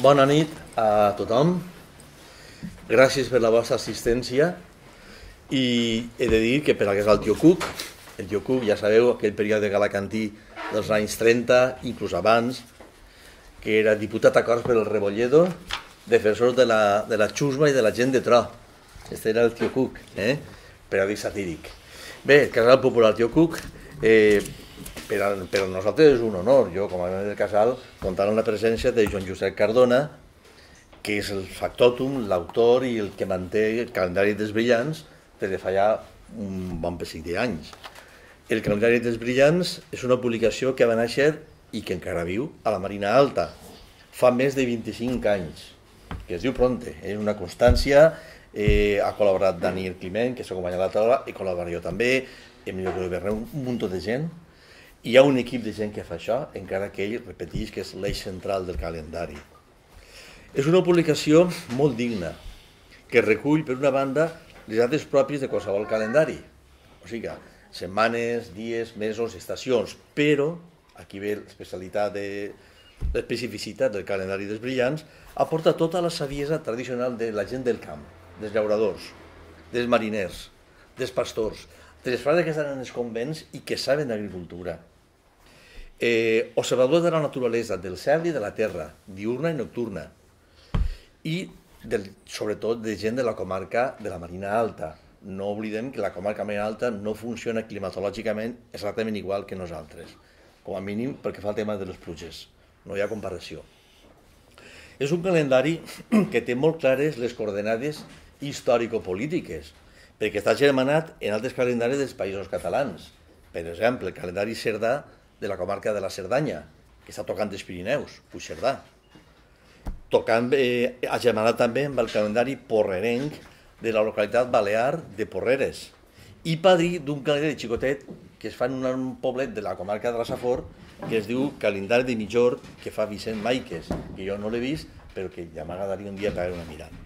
Bona nit a tothom. Gràcies per la vostra assistència i he de dir que per al que és el tio Cook, ja sabeu, aquell període galacantí dels anys 30, inclús abans, que era diputat a Corts per el Rebolledo, defensor de la xusma i de la gent de tro. Este era el tio Cook, periòdic satíric. Bé, el casal popular tio Cook, per a nosaltres és un honor. Jo, com a membre del casal, comptar amb la presència de Joan Josep Cardona, que és el factòtum, l'autor i el que manté el calendari dels brillants des de fa ja un bon pessic d'anys. El calendari dels brillants és una publicació que va néixer i que encara viu a la Marina Alta. Fa més de 25 anys, que es diu Pronte. És una constància, ha col·laborat Daniel Climent, que s'acompanya a la taula, he col·laborat jo també, Emilio Berneu, un munt de gent. Hi ha un equip de gent que fa això, encara que ell repeteix que és l'eix central del calendari. És una publicació molt digna, que recull, per una banda, les dates pròpies de qualsevol calendari. O sigui, setmanes, dies, mesos, estacions, però, aquí ve l'especificitat del calendari dels brillants, aporta tota la saviesa tradicional de la gent del camp, dels llauradors, dels mariners, dels pastors, de les frases que estan en els convents i que saben d'agricultura. Observadors de la naturalesa, del cel i de la terra, diurna i nocturna, i sobretot de gent de la comarca de la Marina Alta. No oblidem que la comarca Marina Alta no funciona climatològicament exactament igual que nosaltres, com a mínim perquè fa el tema de les pluges, no hi ha comparació. És un calendari que té molt clares les coordenades històrico-polítiques, perquè està germanat en altres calendaris dels països catalans. Per exemple, el calendari cerdà de la comarca de la Cerdanya, que està tocant dels Pirineus, Puigcerdà. Agermanat també amb el calendari porrerenc de la localitat balear de Porreres i padrí d'un calendari xicotet que es fa en un poblet de la comarca de la Safor que es diu Calendari de Mitjor, que fa Vicent Maiques, que jo no l'he vist però que ja m'agradaria un dia pegar una mirada.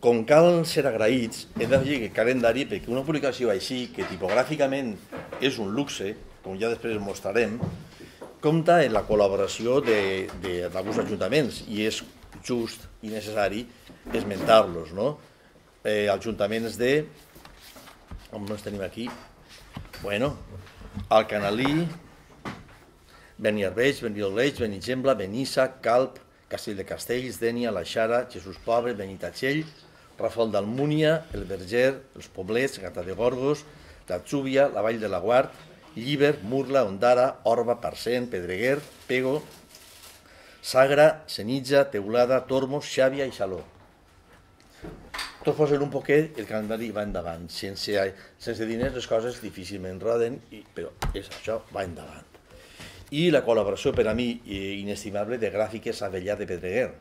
Com cal ser agraïts, hem d'afegir que el calendari, perquè una publicació així, que tipogràficament és un luxe, com ja després mostrarem, compta en la col·laboració d'alguns ajuntaments i és just i necessari esmentar-los. Ajuntaments de... on ens tenim aquí? Bueno, Alcanalí, Beniarbeig, Benidoleig, Benigembla, Benissa, Calp, Castell de Castells, Dénia, La Xara, Jesús Pobre, Benitatxell, Rafal d'Almúnia, El Verger, Els Poblets, Gata de Gorgos, l'Atzúbia, la Vall de la Guard, Llíber, Murla, Ondara, Orba, Parcent, Pedreguer, Pego, Sagra, Senitja, Teulada, Tormos, Xàbia i Xaló. Tot posen un poquet, el calendari va endavant. Sense diners les coses difícilment roden, però això va endavant. I la col·laboració per a mi inestimable de Gràfiques Avellà de Pedreguer,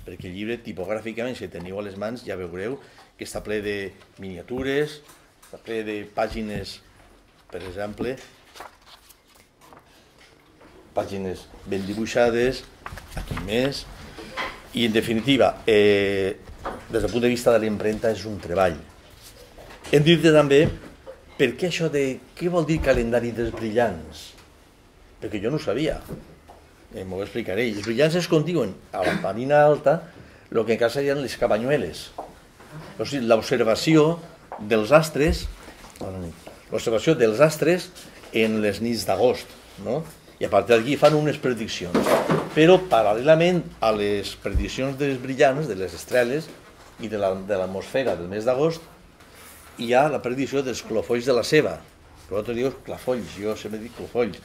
perquè el llibre tipogràficament, si el teniu a les mans, ja veureu que està ple de miniatures, està ple de pàgines, per exemple, pàgines ben dibuixades, aquí més, i en definitiva, des del punt de vista de l'impremta és un treball. Hem dit també per què això de què vol dir calendari dels brillants, perquè jo no ho sabia, m'ho explicaré. Els brillants es condiuen a la Marina Alta el que encara serien les cabanyueles, o sigui, l'observació dels astres, en les nits d'agost, i a partir d'aquí fan unes prediccions. Però paral·lelament a les prediccions dels brillants, de les estreles i de l'atmosfera del mes d'agost, hi ha la predicció dels clofolls de la ceba, que nosaltres dius clafolls, jo sempre dic clofolls,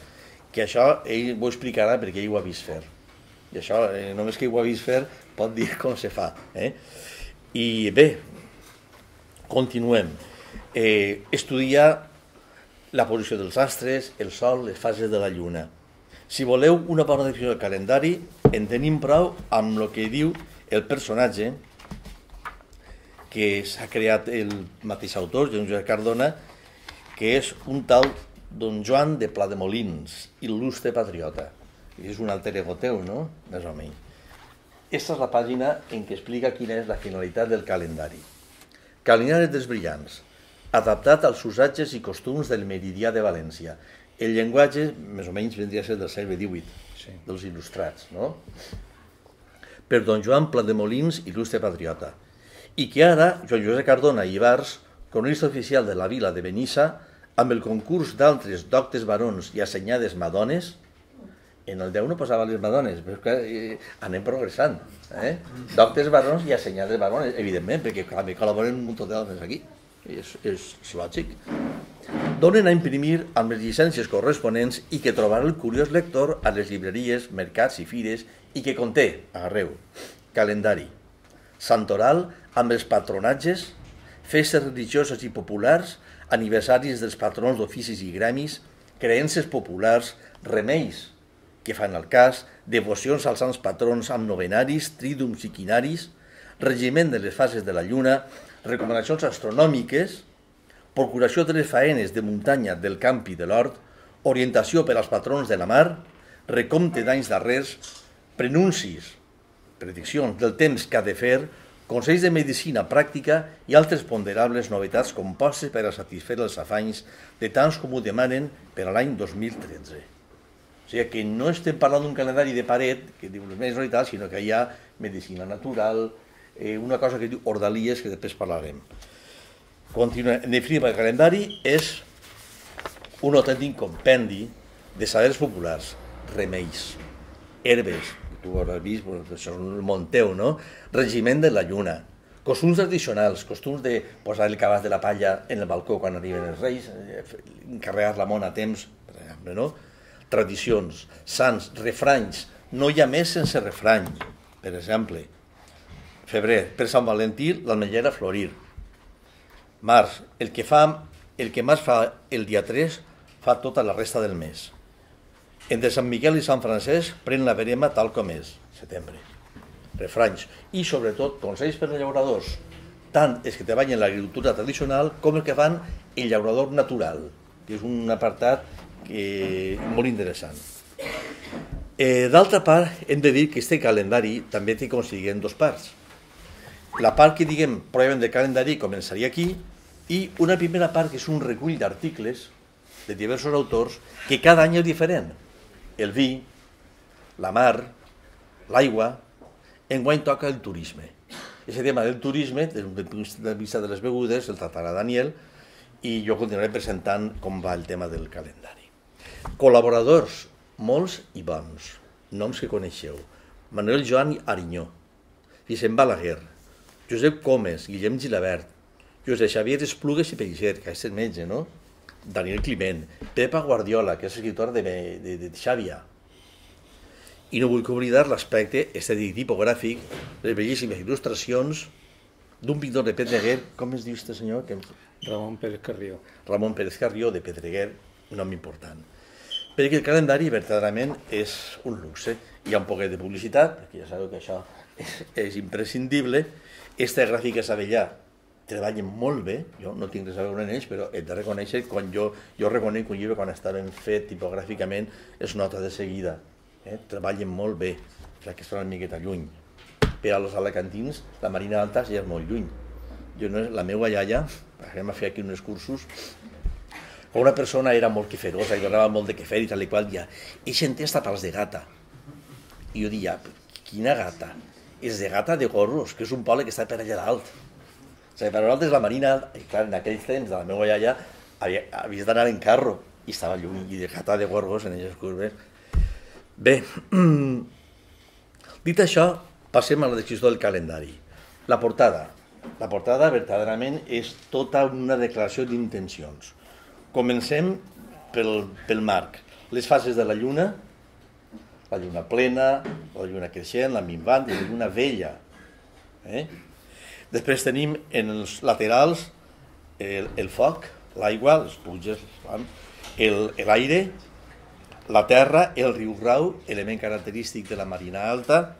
que això ell ho explicarà perquè ell ho ha vist fer. I això, només que ell ho ha vist fer, pot dir com se fa. I bé, continuem. Estudiar la posició dels astres, el sol, les fases de la lluna. Si voleu una bona definició del calendari, en tenim prou amb el que diu el personatge que s'ha creat el mateix autor, Joan Josep Cardona, que és un tal Don Joan de Plademolins, il·lustre patriota. És un alter ego teu, no? Més o menys. Aquesta és la pàgina en què explica quina és la finalitat del calendari. Calendari dels brillants, adaptat als usatges i costums del meridià de València. El llenguatge, més o menys, vendria a ser del segle XVIII, dels il·lustrats, no? per don Joan Plademolins, il·lustre patriota, i que ara Joan Josep Cardona i Ibars, cronista oficial de la vila de Benissa, amb el concurs d'altres doctes barons i assenyades madones, en el 10 no posava les madones, però que anem progressant. Doctes barons i assenyades barones, evidentment, perquè col·laboren un munt d'altres aquí. És lògic. Donen a imprimir amb les llicències corresponents i que trobarà el curiós lector a les llibreries, mercats i fires i que conté, agarreu, calendari, santoral amb els patronatges, festes religioses i populars, aniversaris dels patrons d'oficis i gremis, creences populars, remeis que fan el cas, devocions als sants patrons amb novenaris, trídums i quinaris, regiment de les fases de la lluna, recomanacions astronòmiques, procuració de les faenes de muntanya, del camp i de l'hort, orientació per als patrons de la mar, recompte d'anys darrers, prenuncis, prediccions del temps que ha de fer, consells de medicina pràctica i altres ponderables novetats compostes per a satisfer els afanys de tants com ho demanen per a l'any 2013. O sigui que no estem parlant d'un calendari de paret, que diu les mesos i tal, sinó que hi ha medicina natural, una cosa que diu ordalies, que després parlarem. Continuem. En definitiva, el calendari és un autèntic compendi de sabers populars, remeis, herbes, tu ho hauràs vist, això és el Monteu, no? Regiment de la lluna, costums tradicionals, costums de posar el cabàs de la palla en el balcó quan arriben els reis, encarregar la mona a temps, per exemple, no? Tradicions, sants, refranys, no hi ha més sense refrany, per exemple. Febrer, per Sant Valentí, l'ametllera a florir. Març, el que març fa el dia 3, fa tota la resta del mes. Entre Sant Miquel i Sant Francesc, pren la verema tal com és, setembre. Refranys. I, sobretot, consells per als llauradors, tant els que treballen en l'agricultura tradicional com els que fan el llaurador natural, que és un apartat molt interessant. D'altra part, hem de dir que aquest calendari també té, com si diguem, dues parts. La part que, diguem, pròpiament del calendari començaria aquí, i una primera part que és un recull d'articles de diversos autors que cada any és diferent. El vi, la mar, l'aigua, enguany toca el turisme. Aquest tema del turisme, des del punt de vista de les begudes, el tractarà Daniel, i jo continuaré presentant com va el tema del calendari. Col·laboradors, molts i bons, noms que coneixeu. Manuel Joan Arinyó, Vicent Balaguer, Josep Comes, Guillem Gilabert, Josep Xavier Esplugues i Peixer, que és el metge, no? Daniel Climent, Pepa Guardiola, que és escriptor de Xàbia. I no vull oblidar l'aspecte estètic tipogràfic, les bellíssimes il·lustracions d'un pintor de Pedreguer, com es diu aquest senyor? Ramon Pérez Carrió. Ramon Pérez Carrió, de Pedreguer, un nom important. Perquè el calendari, verdaderament, és un luxe. Hi ha un poquet de publicitat, perquè ja sabeu que això és imprescindible. Aquesta gràfica Savellà treballen molt bé, jo no tinc res a veure en ells, però he de reconèixer que quan jo reconec un llibre quan està ben fet tipogràficament es nota de seguida. Treballen molt bé, ja que estan una miqueta lluny. Per als alacantins, la Marina Alta ja és molt lluny. La meva iaia, vam fer aquí uns cursos, una persona era molt queferosa i donava molt de quefer i tal i qual, dia, i sentia hasta pals de gata. I jo dia, quina gata? És de Gata de Gorros, que és un poble que està per allà dalt. O sigui, per nosaltres la Marina, i clar, en aquells temps de la meva iaia, havies d'anar en carro, i estava lluny, i de Gata de Gorgos en aquelles curves. Bé, dit això, passem a la descripció del calendari. La portada. La portada, verdaderament, és tota una declaració d'intencions. Comencem pel marc. Les fases de la lluna plena, la lluna creixent, la minvant i la lluna vella. Després tenim en els laterals el foc, l'aigua, les pluges, l'aire, la terra, el riu Rau, element característic de la Marina Alta,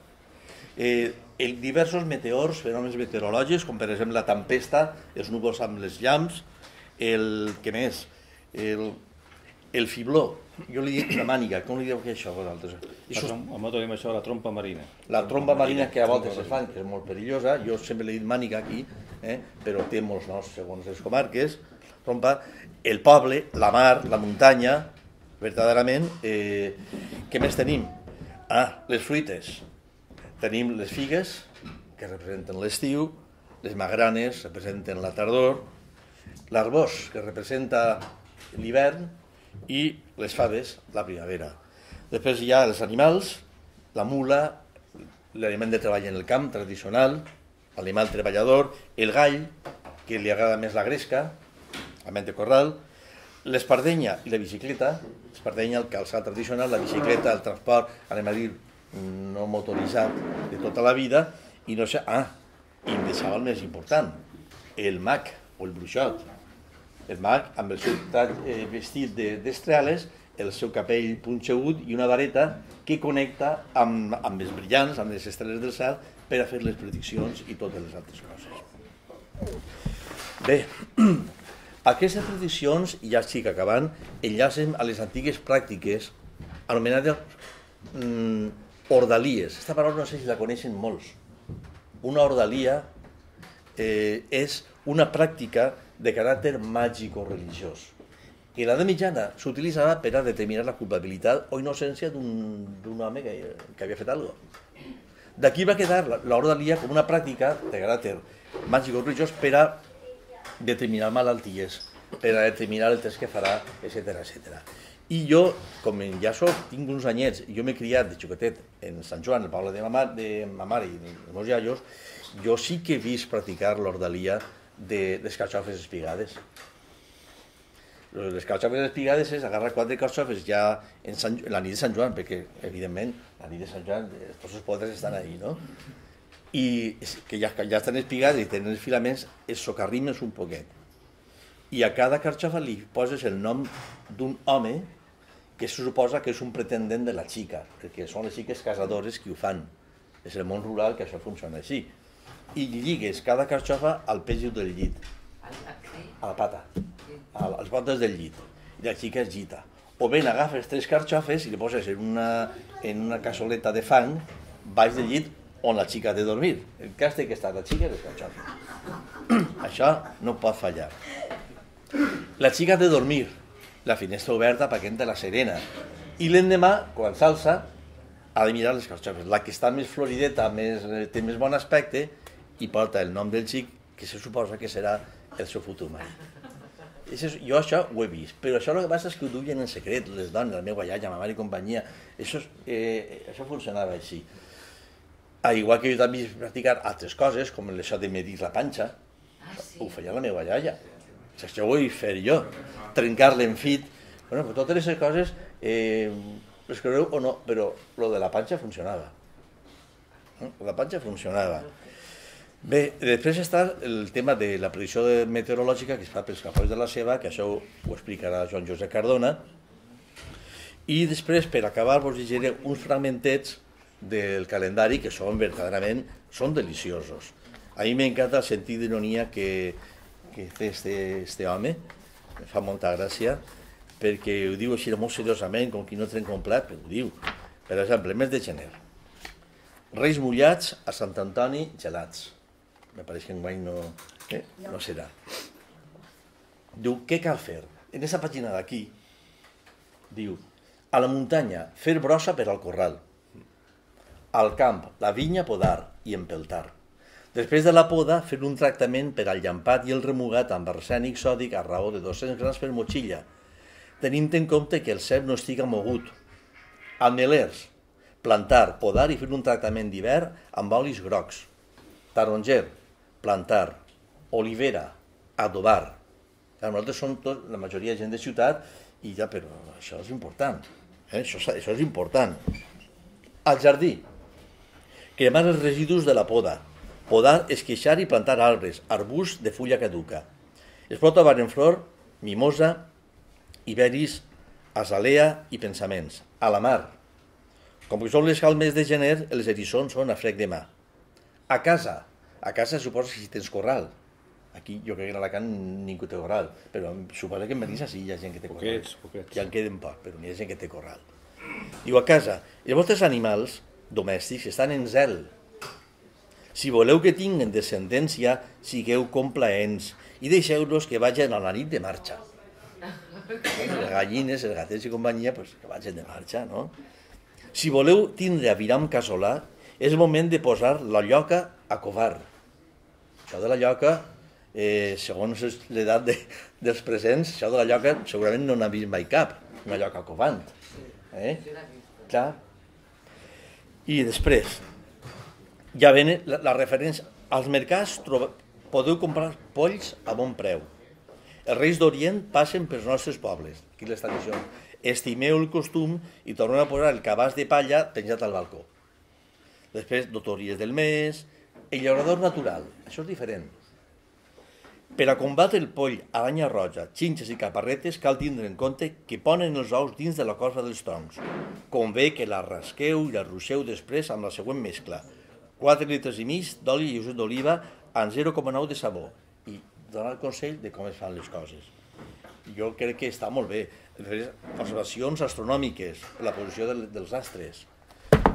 diversos meteors, fenòmens meteorològics, com per exemple la tempesta, els núvols amb les llamps, què més? El fibló, jo li dic la màniga, com li diu que això vosaltres? A mi tenim això, la trompa marina. La trompa marina que a voltes es fan, que és molt perillosa, jo sempre li he dit màniga aquí, però té molts noms segons les comarques, trompa, el poble, la mar, la muntanya, verdaderament, què més tenim? Les fruites, Tenim les figues, que representen l'estiu, les magranes representen la tardor, l'arbós, que representa l'hivern, i les faves, la primavera. Després hi ha els animals, la mula, l'aliment de treball en el camp tradicional, l'animal treballador, el gall, que li agrada més la gresca, aliment de corral, l'espardenya i la bicicleta, l'espardenya, el calçat tradicional, la bicicleta, el transport, anem a dir, no motoritzat de tota la vida, i no sé, i em deixava el més important, el mag o el bruixot. El mag, amb el seu vestit d'estrelles, el seu capell punxegut i una vareta que connecta amb els brillants, amb les estrelles del cel, per a fer les prediccions i totes les altres coses. Bé, aquestes prediccions, ja estic acabant, enllacen a les antigues pràctiques anomenades ordalies. Aquesta paraula no sé si la coneixen molts. Una ordalia és una pràctica de caràcter màgico-religiós. I a l'edat mitjana s'utilitzava per a determinar la culpabilitat o innocència d'un home que havia fet alguna cosa. D'aquí va quedar l'ordalia com una pràctica de caràcter màgico-religiós per a determinar malalties, per a determinar el temps que farà, etc. I jo, com ja tinc uns anyets, jo m'he criat de xoquetet en Sant Joan, el poble de ma mare i dels meus iaios, jo sí que he vist practicar l'ordalia de les carxofes espigades. Les carxofes espigades és agarrar 4 carxofes ja en la nit de Sant Joan, perquè, evidentment, la nit de Sant Joan, tots els podres estan ahí, no? I que ja estan espigades i tenen els filaments, els socarrimes un poquet. I a cada carxofa li poses el nom d'un home que se suposa que és un pretendent de la xica, perquè són les xiques casadores que ho fan. És el món rural que això funciona així. I lligues cada carxofa al pèsol del llit, a la pata, a les potes del llit, i la xica es gita. O bé agafes 3 carxofes i li poses en una cassoleta de fang baix del llit on la xica ha de dormir. El cas que està la xica i les carxofes. Això no pot fallar. La xica ha de dormir, la finestra oberta perquè entra la serena. I l'endemà, quan s'alça, ha de mirar les carxofes. La que està més florideta, té més bon aspecte, i porta el nom del xic, que se suposa que serà el seu futur marit. Jo això ho he vist, però això el que passa és que ho duien en secret, les dones, la meva iaia, ma mare i companyia. Això funcionava així. Igual que jo també he practicat altres coses, com això de medir la panxa, ho feia la meva iaia. Això ho he fet jo, trencar l'enfit. Totes aquestes coses, les creureu o no, però lo de la panxa funcionava. La panxa funcionava. Bé, després està el tema de la predicció meteorològica que es fa pels capois de la Ceba, que això ho explicarà Joan Josep Cardona. I després, per acabar, vos llegiré uns fragmentets del calendari que són verdaderament deliciosos. A mi m'encanta el sentit d'ironia que té este home, em fa molta gràcia, perquè ho diu així molt seriosament, com qui no tren complet, però ho diu. Per exemple, el mes de gener. Reis mullats, a Sant Antoni gelats. Me pareix que enguany no serà. Diu, què cal fer? En aquesta pàgina d'aquí, diu, a la muntanya, fer brossa per al corral. Al camp, la vinya podar i empeltar. Després de la poda, fer un tractament per al llampat i el remugat amb arsènic sòdic a raó de 200 grams per motxilla, tenint en compte que el cep no estiga mogut. Amelers, plantar, podar i fer un tractament d'hivern amb olis grocs. Taronger, plantar. Olivera, adobar. Nosaltres som la majoria de gent de ciutat i ja, però això és important. Això és important. Al jardí, cremar els residus de la poda. Podar, esqueixar i plantar arbres, arbusts de fulla caduca. Es pot trobar en flor, mimosa, iberis, azalea i pensaments. A la mar, com que són les calmes de gener, els eriçons són a frec de mà. A casa suposa que si tens corral. Aquí jo crec que a Alacant ningú té corral, però suposa que en Benissa sí hi ha gent que té corral. Poquets. Ja en queden poc, però n'hi ha gent que té corral. Diu, a casa, els vostres animals domèstics estan en zel. Si voleu que tinguen descendència, sigueu complaents i deixeu-los que vagin a la nit de marxa. Les gallines, els gatets i companyia, que vagin de marxa, no? Si voleu tindre aviram casolà, És el moment de posar la lloca a covar. Això de la lloca, segons l'edat dels presents, això de la lloca segurament no n'ha vist mai cap, una lloca covant. Clar. I després, ja ven la referència. Als mercats podeu comprar polls a bon preu. Els Reis d'Orient passen pels nostres pobles. Aquí les tradicions. Estimeu el costum i torneu a posar el cabàs de palla penjat al balcó. Després, dotories del mes, el llaurador natural. Això és diferent. Per a combatre el poll, aranya roja, xinxes i caparretes cal tindre en compte que ponen els ous dins de la corfa dels troncs. Convé que la rasqueu i la ruixeu després amb la següent mescla. 4 litres i mig d'oli lleuger d'oliva amb 0,9 de sabó. I donar el consell de com es fan les coses. Jo crec que està molt bé. Observacions astronòmiques, la posició dels astres.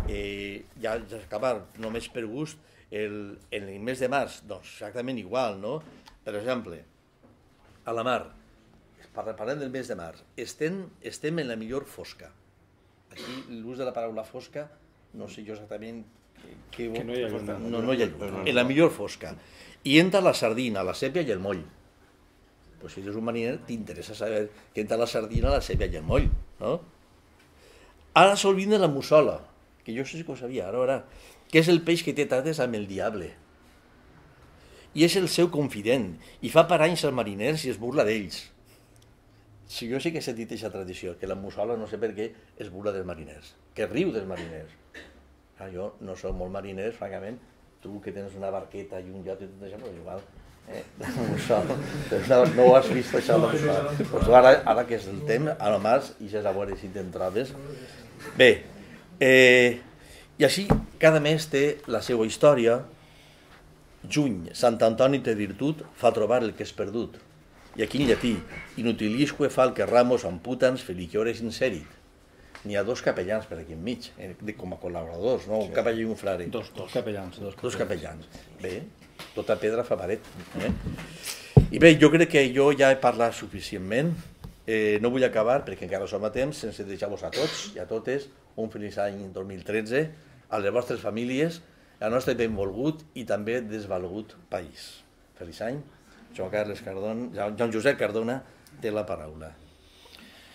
Ja acabar només per gust, en el mes de març, doncs exactament igual, no? Per exemple, a la mar, parlem del mes de març, estem en la millor fosca. Aquí l'ús de la paraula fosca, no sé jo exactament... Que no hi ha llum. No hi ha llum. En la millor fosca. I entra la sardina, la sèpia i el moll. Pues si eres un mariner, t'interessa saber que entra la sardina, la sèpia i el moll, no? Ara sol vindre la mussola, que jo sé que ho sabia, ara, que és el peix que té tardes amb el diable. I és el seu confident, i fa per anys als mariners i es burla d'ells. Si jo sí que he sentit aquesta tradició, que la mussola no sé per què es burla dels mariners, que riu dels mariners. Jo no soc molt mariner, francament, tu que tens una barqueta i un iot i tot això, però igual, no ho has vist això, doncs ara que és el temps, a lo més, i ja a veure si te'n trobes. Bé, i així cada mes té la seva història. Juny, Sant Antoni té virtut, fa trobar el que és perdut. I aquí en llatí, inutilisque falque ramos amputans feliciores inserit. N'hi ha 2 capellans per aquí enmig, com a col·laboradors, no? Un capellà i un frare. Dos capellans. Dos capellans. Bé, tota pedra fa paret. I bé, jo crec que jo ja he parlat suficientment. No vull acabar, perquè encara som a temps, sense deixar-vos a tots i a totes un feliç any 2013, a les vostres famílies, al nostre benvolgut i també desvalgut país. Feliç any. Joan Josep Cardona té la paraula.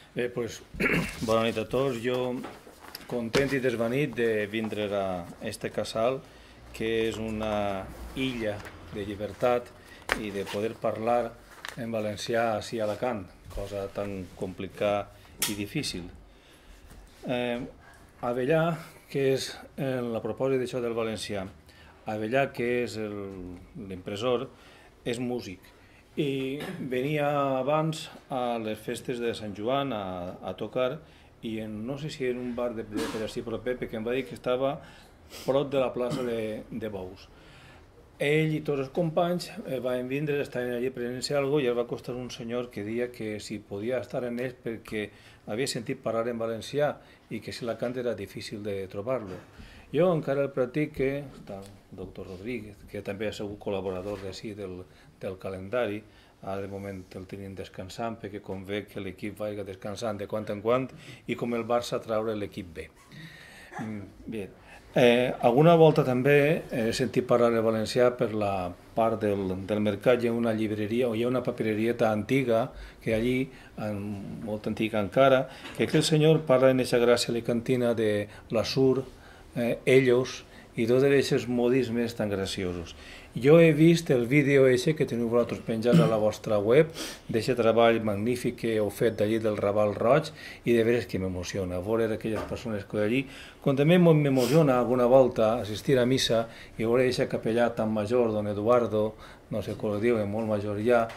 Bé, doncs, bona nit a tots. Jo content i desvanit de vindre a este casal, que és una illa de llibertat i de poder parlar en valencià així a Alacant, cosa tan complicada i difícil. Avellà, que és la propòsit d'això del valencià, Avellà, que és l'impressor, és músic. I venia abans a les festes de Sant Joan a tocar i no sé si en un bar de per així proper, perquè em va dir que estava prop de la plaça de Bous. Ell i tots els companys van vindre, estaven allà presenciant alguna cosa i el va costar un senyor que deia que si podia estar en ells perquè havia sentit parlar en valencià i que si Alacant era difícil de trobar-lo. Jo encara el practico, està el doctor Rodríguez, que també ha sigut col·laborador d'ací del calendari, ara de moment el tenim descansant perquè convé que l'equip vagi descansant de quan en quan i com el Barça traure l'equip B. Bé, alguna volta també he sentit parlar en valencià per la part del mercat. Hi ha una llibreria o hi ha una papirerieta antiga que allí, molt antiga encara, que aquell senyor parla en aquesta gràcia alicantina de l'assur, ellos i tots aquests modismes tan graciosos. Jo he vist el vídeo que teniu vosaltres penjat a la vostra web d'aquest treball magnífic que heu fet d'allí del Raval Roig i de veres que m'emociona veure aquelles persones que allí, com també m'emociona alguna volta assistir a missa i veure aquest capellà tan major, don Eduardo, no sé com ho diu, molt major ja,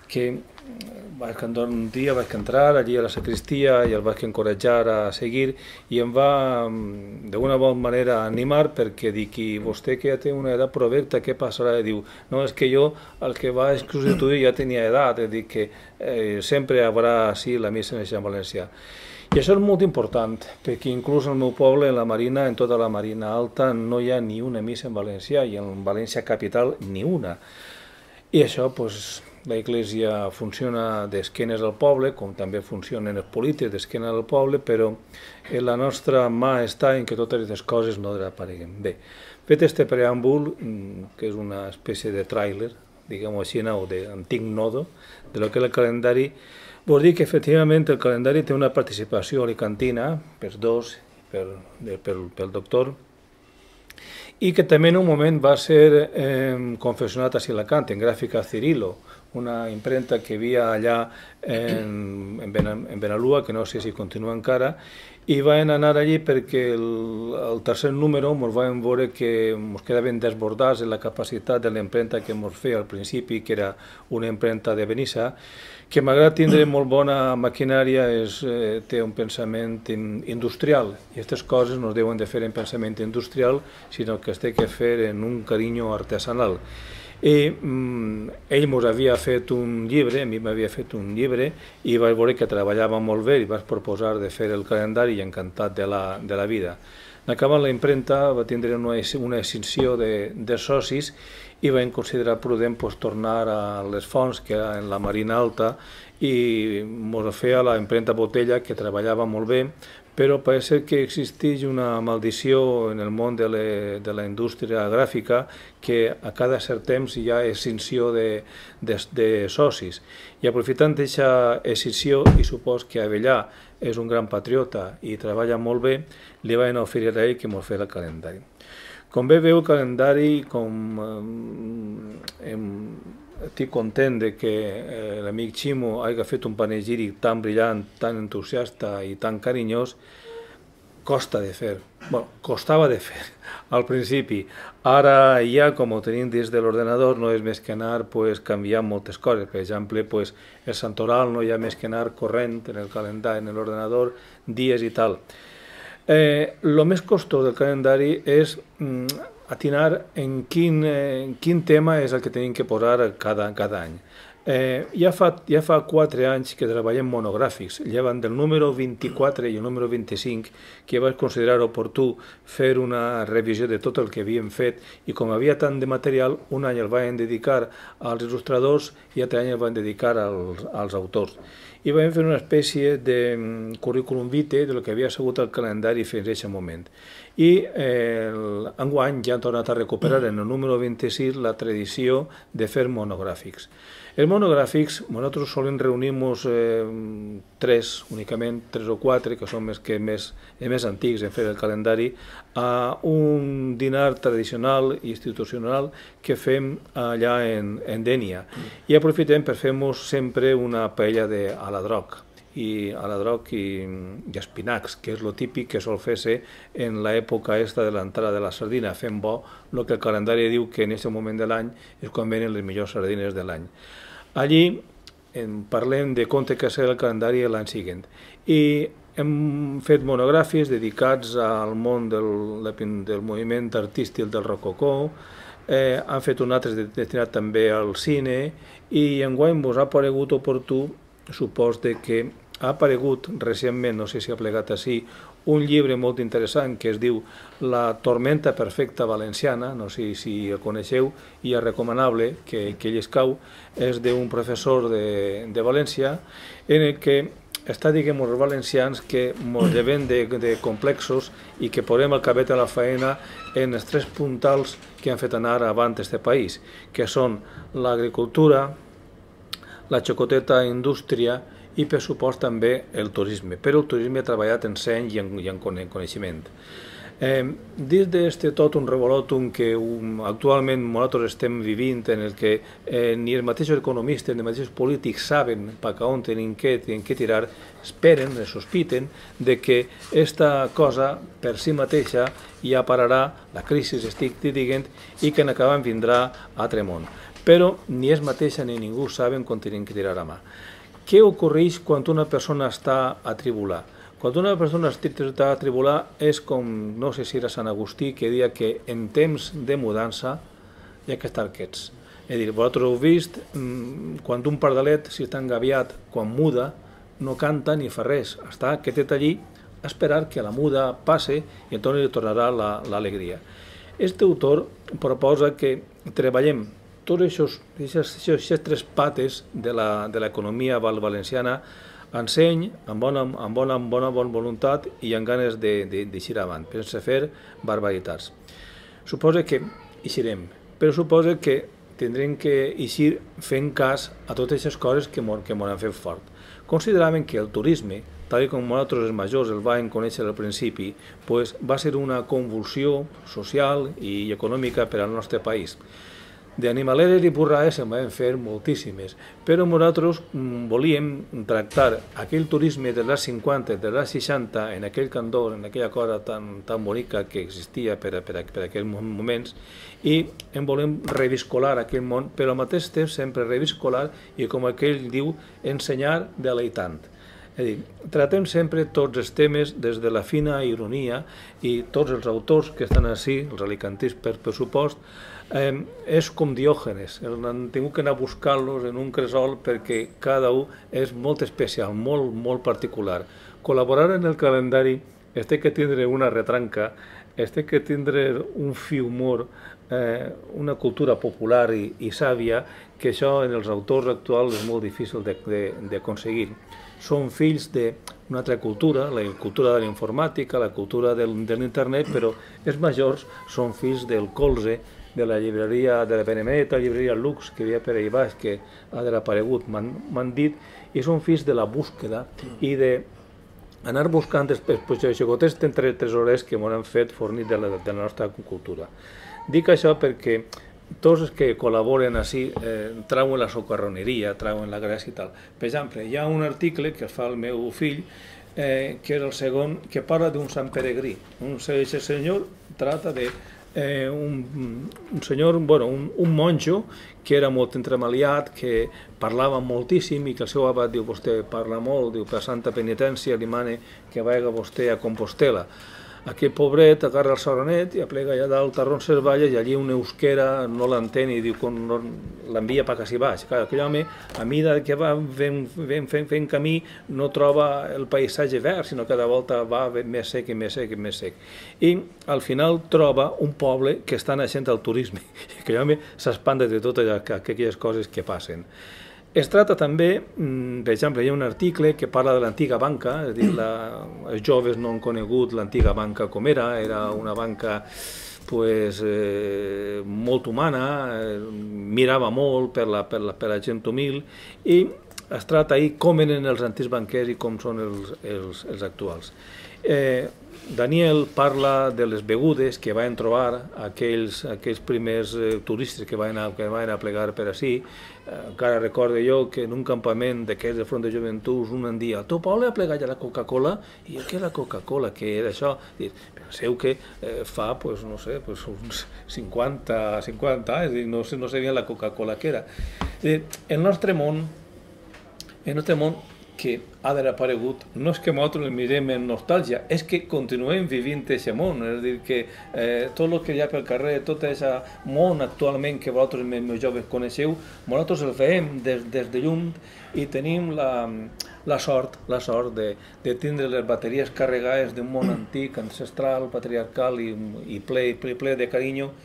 que un dia vaig entrar allí a la sacristia i el vaig encoratjar a seguir i em va d'una bona manera animar perquè dic, i vostè que ja té una edat provecta, què passarà? I diu, no, és que jo el que va substituir ja tenia edat, dic que sempre hi haurà sí la missa en valencià. I això és molt important, perquè inclús al meu poble, en la Marina, en tota la Marina Alta, no hi ha ni una missa en valencià i en València Capital ni una. I això, doncs, la Iglesia funciona d'esquenes al poble, com també funcionen els polítics d'esquenes al poble, però la nostra mà està en que totes aquestes coses no desapareguin. Bé, fet este preàmbul, que és una espècie de tràiler, diguem-ho així, o d'antic nodo, de lo que és el calendari, vol dir que efectivament el calendari té una participació alicantina, per dos, pel doctor, i que també en un moment va ser confeccionat a Alacant, en Gràfica Cirilo, una impremta que hi havia allà en Benalúa, que no sé si continua encara, i vam anar allí perquè el tercer número ens vam veure que ens quedaven desbordats en la capacitat de l'impremta que ens feia al principi, que era una impremta de Benissa, que malgrat tindre molt bona maquinària té un pensament industrial, i aquestes coses no es deuen de fer en pensament industrial, sinó que es té que fer en un carinyo artesanal. I ell ens havia fet un llibre, a mi m'havia fet un llibre, i vaig veure que treballava molt bé i vaig proposar de fer el calendari i encantat de la vida. En acabar la impremta va tindre una extinció de socis i vam considerar prudent tornar a les fonts, que era en la Marina Alta, i ens feia la impremta Botella, que treballava molt bé, però parece que existeix una maldició en el món de la indústria gràfica que a cada cert temps hi ha extinció de socis. I aprofitant aquesta extinció, i supos que Avellà és un gran patriota i treballa molt bé, li van oferir a ell que ens fes el calendari. Com bé veu, el calendari, estic content que l'amic Ximo hagi fet un panegíric tan brillant, tan entusiasta i tan carinyós, costa de fer. Bueno, costava de fer al principi. Ara ja, com ho tenim dins de l'ordenador, no és més que anar canviant moltes coses. Per exemple, el santoral no hi ha més que anar corrent en el calendari, en l'ordenador, dies i tal. El més costós del calendari és atinar en quin tema és el que tenim que posar cada any. Ja fa 4 anys que treballem monogràfics, llevant del número 24 i el número 25, que vaig considerar oportú fer una revisió de tot el que havíem fet, i com havia tant de material, un any el vam dedicar als il·lustradors i l'altre any el vam dedicar als autors. I vam fer una espècie de currículum vitae del que havia sigut el calendari fins a aquest moment. I enguany ja hem tornat a recuperar en el número 26 la tradició de fer monogràfics. Els monogràfics, nosaltres solen reunir-nos 3 únicament, 3 o 4, que són els més antics en fer el calendari, a un dinar tradicional i institucional que fem allà en Dénia. I aprofitem per fer-nos sempre una paella d'aladroc i espinacs, que és el típic que sol fer-se en l'època de l'entrada de la sardina, fent bo el que el calendari diu que en aquest moment de l'any és quan venen les millors sardines de l'any. Allí parlem de com té que ser el calendari l'any següent. I hem fet monogràfics dedicats al món del moviment artístic del rococó, han fet un altre destinat també al cine, i enguany ens ha paregut oportú, supos que ha aparegut recentment, no sé si ha plegat així, un llibre molt interessant que es diu La tormenta perfecta valenciana, no sé si el coneixeu, i és recomanable que llescau, és d'un professor de València, en el que està, diguem, els valencians que ens llevem de complexos i que posem el cabet a la feina en els 3 puntals que han fet anar avant este país, que són l'agricultura, la xocoteta indústria i, per supost, també el turisme. Però el turisme ha treballat en seny i en coneixement. Dins d'aquest tot un revolòtum que actualment nosaltres estem vivint, en el que ni els mateixos economistes ni els mateixos polítics saben cap a on tenen que tirar, esperen, sospiten, que aquesta cosa per si mateixa ja pararà, la crisi estic dient, i que en acabant vindrà a tremont. Però ni ells mateixa ni ningú saben quan tenen que tirar a mà. Què ocorreix quan una persona està atribular? Quan una persona està atribular és com, no sé si era Sant Agustí, que deia que en temps de mudança hi ha que estar quiets. És a dir, vosaltres heu vist, quan un pardalet, si està engaviat, quan muda, no canta ni fa res, està quietet allí a esperar que la muda passe i entonces li tornarà l'alegria. Este autor proposa que treballem tots aquestes tres pates de l'economia valenciana enseny amb bona voluntat i amb ganes d'eixir avant, sense fer barbaritats. Suposa que eixirem, però suposa que tindrem que eixir fent cas a totes aquestes coses que m'han fet fort. Consideraven que el turisme, tal com nosaltres els majors el vam conèixer al principi, va ser una convulsió social i econòmica per al nostre país. D'animaleres i burrades se'n van fer moltíssimes, però nosaltres volíem tractar aquell turisme de les 50, de les 60, en aquell candor, en aquella cosa tan bonica que existia per aquells moments, i en volem reviscolar aquell món, però al mateix temps sempre reviscolar i, com aquell diu, ensenyar deleitant. És a dir, tratem sempre tots els temes des de la fina ironia i tots els autors que estan així, els alicantins per pressupost, és com Diògenes, han tingut que anar a buscar-los en un cresol perquè cada un és molt especial, molt particular. Col·laborar en el calendari té que tindre una retranca, té que tindre un fi humor, una cultura popular i sàvia, que això en els autors actuals és molt difícil d'aconseguir. Són fills d'una altra cultura, la cultura de la informàtica, la cultura de l'internet, però els majors són fills del colze, de la llibreria, de la benemèrita llibreria Lux, que hi havia per ahí baix, que ha desaparegut, m'han dit, i són fills de la búsqueda i d'anar buscant els xicotets tresorers que m'han fet fornir de la nostra cultura. Dic això perquè tots els que col·laboren així trauen la socarroneria, trauen la gràcia i tal. Per exemple, hi ha un article que fa el meu fill, que és el segon, que parla d'un sant peregrí. Un senyor trata de un monjo que era molt entremaliat, que parlava moltíssim i que el seu abat diu: vostè parla molt, diu, per santa penitència li mane que vagi vostè a Compostela. Aquell pobret agarra el saronet i aplega allà dalt a Roncesvalles i allí un euskera no l'entén i diu que l'envia per quasi baix. Aquell home, a mesura que va fent camí, no troba el paisatge verd, sinó que cada volta va més sec i més sec i més sec. I al final troba un poble que està naixent al turisme. Aquell home s'espanta de totes aquelles coses que passen. Es tracta també, per exemple, hi ha un article que parla de l'antiga banca, és a dir, els joves no han conegut l'antiga banca com era una banca molt humana, mirava molt per la gent humil, i es tracta ahir com eren els antics banquers i com són els actuals. Daniel parla de les begudes que van trobar aquells primers turistes que van a plegar per ací. Encara recordo jo que en un campament d'aquests de Front de Joventuts un dia: al teu poble ha plegat ja la Coca-Cola? I què la Coca-Cola? Què era això? Penseu que fa, no sé, uns 50 anys, no sabia la Coca-Cola què era. El nostre món que ha desaparegut, no és que nosaltres el mirem en nostàlgia, és que continuem vivint aquest món, és a dir, que tot el que hi ha pel carrer, tot aquest món actualment que vosaltres més joves coneixeu, nosaltres el veiem des de lluny i tenim la sort de tindre les bateries carregades d'un món antic, ancestral, patriarcal i ple de carinyo,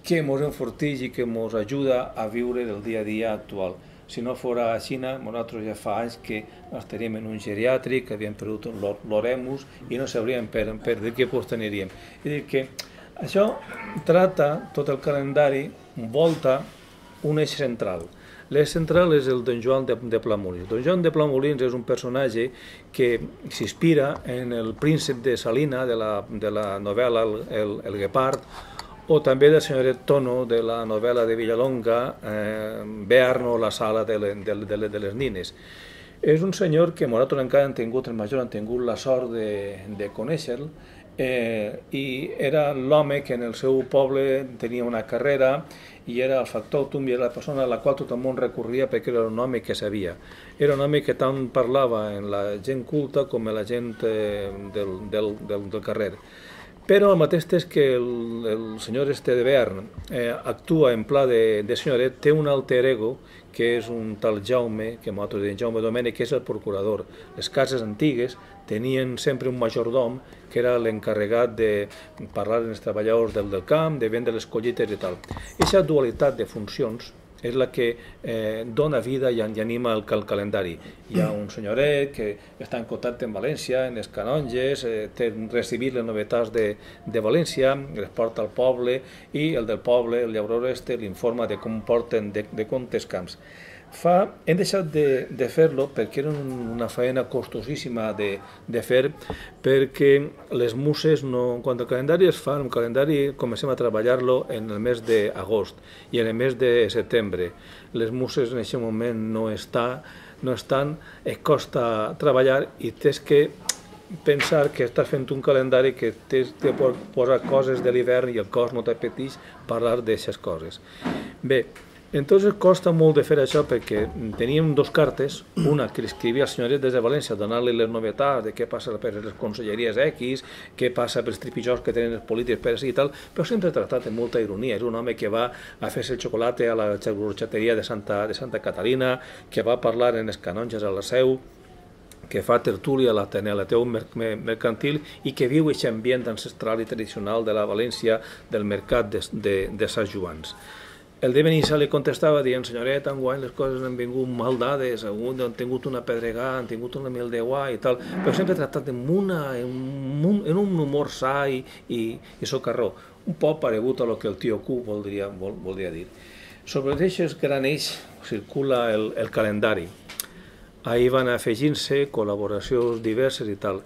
que ens enforteix i que ens ajuda a viure el dia a dia actual. Si no fos a Xina, nosaltres ja fa anys que estaríem en un geriàtric, que havíem perdut l'oremus i no sabríem per què aniríem. És a dir, que això tracta, tot el calendari, volta un eix central. L'eix central és el Don Joan de Plamolins. Don Joan de Plamolins és un personatge que s'inspira en el príncep de Salina, de la novel·la El Guepard, o també del senyoret Tono de la novel·la de Villalonga, Bearno, la sala de les nines. És un senyor que nosaltres encara els majors han tingut la sort de conèixer-lo, i era l'home que en el seu poble tenia una carrera i era el factòtum i era la persona a la qual tot el món recorria perquè era un home que sabia. Era un home que tant parlava en la gent culta com en la gent del carrer. Però el mateix és que el senyor este de Bern actua en pla de senyoret, té un alter ego, que és un tal Jaume, que nosaltres diem Jaume Domènech, que és el procurador. Les cases antigues tenien sempre un majordom, que era l'encarregat de parlar amb els treballadors del camp, de vendre les collites i tal. Aquesta dualitat de funcions és la que dona vida i anima el calendari. Hi ha un senyoret que està en contacte amb València, en els canonges, té recibit les novetats de València, les porta al poble i el del poble, el llaurador este, l'informa de com porten de comptes camps. Hem deixat de fer-lo perquè era una feina costosíssima de fer, perquè les muses, quan el calendari es fa, el calendari comencem a treballar-lo en el mes d'agost i en el mes de setembre. Les muses en aquest moment no estan, et costa treballar i tens que pensar que estàs fent un calendari que tens de posar coses de l'hivern i el cos no t'apeteix parlar d'aquestes coses. Bé, entonces costa molt de fer això perquè teníem dos cartes, una que escrivia el senyoret des de València donant-li les novetats de què passa per les conselleries X, què passa pels tripijors que tenen els polítics per així i tal, però sempre tractat amb molta ironia. És un home que va a fer-se el xocolate a la xarxateria de Santa Caterina, que va parlar en els canonges a la Seu, que fa tertúlia a l'Ateneu Mercantil i que viu aquest ambient ancestral i tradicional de la València del mercat de Sant Joans. El de Benissa li contestava dient, senyoret, enguany les coses han vingut mal dades, han tingut una pedregada, han tingut una mil d'aigua i tal, però sempre tractat en un humor sa i socarró, un poc paregut a lo que el tio Q voldria dir. Sobre aquests gran eix circula el calendari. Ahir van afegint-se col·laboracions diverses i tal.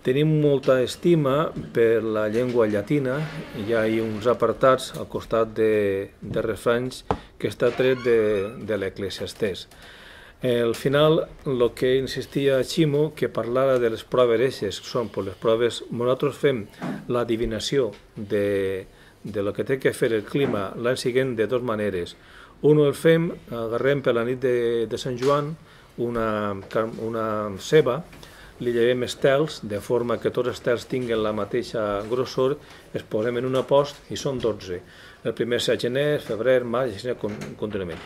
Tenim molta estima per la llengua llatina, hi ha uns apartats al costat de refranys que està tret de l'Eclesiastès. Al final, el que insistia Ximo, que parlara de les proves eixes, són les proves, nosaltres fem l'adivinació de lo que té que fer el clima l'any següent de dues maneres. Un el fem, agarrem per la nit de Sant Joan una ceba, li llevem estels, de forma que tots els estels tinguin la mateixa grossor, es posem en una post i són 12. El primer és a gener, febrer, maig, i així contínuament.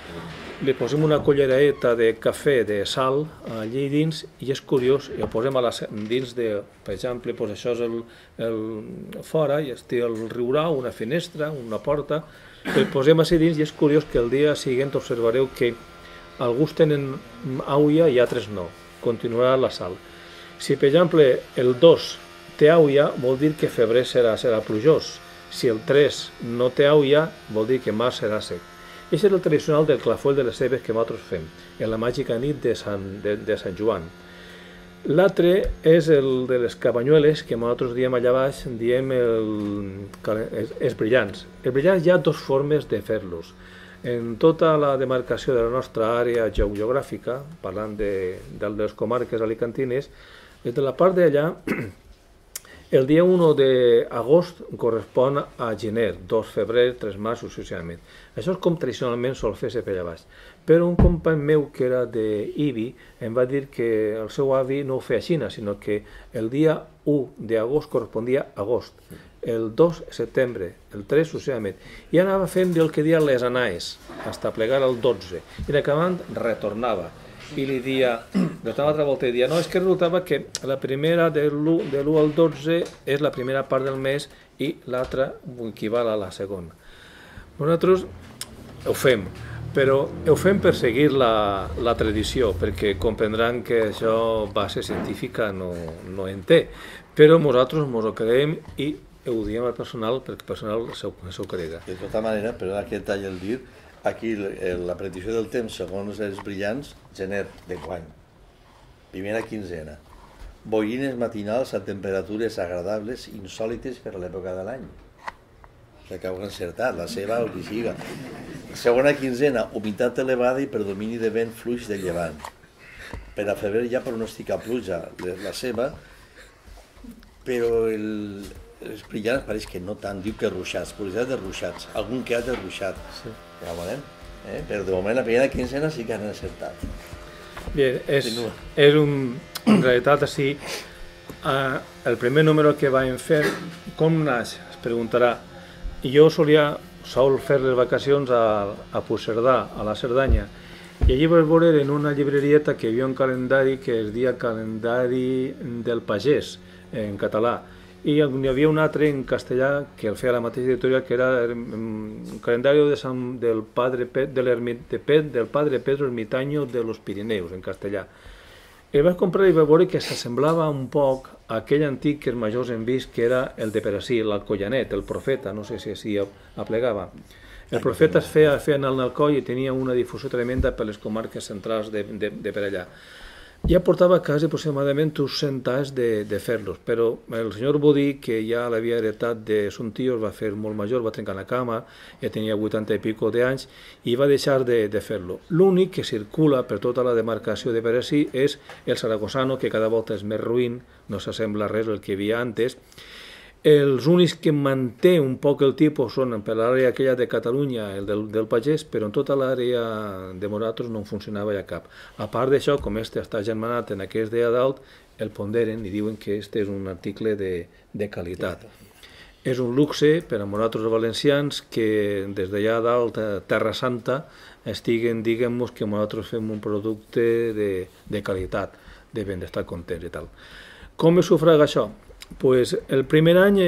Li posem una cullereta de cafè de sal allí dins i és curiós, i ho posem dins de, per exemple, això és el fora, i té el riurau, una finestra, una porta, el posem així dins i és curiós que el dia següent observareu que alguns tenen auia i altres no, continuarà la sal. Si, per exemple, el 2 té auia, vol dir que febrer serà plujós. Si el 3 no té auia, vol dir que març serà sec. Aquest és el tradicional del clafoll de les cebes que nosaltres fem, en la màgica nit de Sant Joan. L'altre és el de les cabanyueles, que nosaltres diem allà baix, diem els brillants. Els brillants hi ha dues formes de fer-los. En tota la demarcació de la nostra àrea geogràfica, parlant de les comarques alicantines, des de la part d'allà, el dia 1 d'agost correspon a gener, 2 febrer, 3 març, successivament. Això és com tradicionalment sol fer-se per allà baix. Però un company meu que era d'Ibi em va dir que el seu avi no ho feia així, sinó que el dia 1 d'agost correspondia a agost, el 2 setembre, el 3 successivament. I anava fent el que deia les anaes, fins a plegar el 12. I en acabant retornava. I li dia, de una altra volta, i dia, no, és que resultava que la primera de l'1 al 12 és la primera part del mes i l'altra equival a la segona. Nosaltres ho fem, però ho fem per seguir la tradició, perquè comprendran que això base científica no en té, però nosaltres ens ho creiem i ho diem al personal perquè el personal s'ho crega. De tota manera, però aquest tall el dir, aquí la predicció del temps, segons els brillants, gener d'enguany, primera quinzena. Boirines matinals a temperatures agradables, insòlites per a l'època de l'any. Que acabo encertat, la seva o qui siga. Segona quinzena, humitat elevada i predomini de vent fluix de llevant. Per a febrer ja pronostica pluja, la seva, però els brillants pareix que no tant, diu que ruixats, probabilitat de ruixats, algun que ha de ruixat. Sí. Ja ho veurem, però de moment la primera quinzena sí que han encertat. Bé, en realitat així El primer número que vam fer, com naix? Es preguntarà. Jo sol fer les vacacions a Puigcerdà, a la Cerdanya, i allí vaig veure en una llibrerieta que hi havia un calendari que es deia Calendari del Pagès, en català, i hi havia un altre en castellà que el feia la mateixa editorial, que era el calendari del padre Pedro Ermitaño de los Pirineus, en castellà. El vaig comprar i vaig veure que s'assemblava un poc a aquell antic que els majors hem vist, que era el de Perací, l'Alcoyanet, el Profeta, no sé si així aplegava. El Profeta es feia en el Alcoi i tenia una difusió tremenda per les comarques centrals de per allà. Ja portava quasi aproximadament uns 100 anys de fer-los, però el senyor Bodí, que ja l'havia heretat de son tio, es va fer molt major, va trencar la cama, ja tenia 80 i pico d'anys, i va deixar de fer-lo. L'únic que circula per tota la demarcació de Perací és el Saragossano, que cada volta és més ruïn, no s'assembla res al que hi havia antes. Els únics que manté un poc el tipus són per l'àrea aquella de Catalunya, el del Pagès, però en tota l'àrea de Moratros no funcionava ja cap. A part d'això, com este està germanat en aquest d'allà dalt, el ponderen i diuen que este és un article de qualitat. És un luxe per a Moratros valencians que des d'allà dalt, Terra Santa, estiguen, diguem-nos, que nosaltres fem un producte de qualitat, devem d'estar contents i tal. Com es sufraga això? Pues el primer any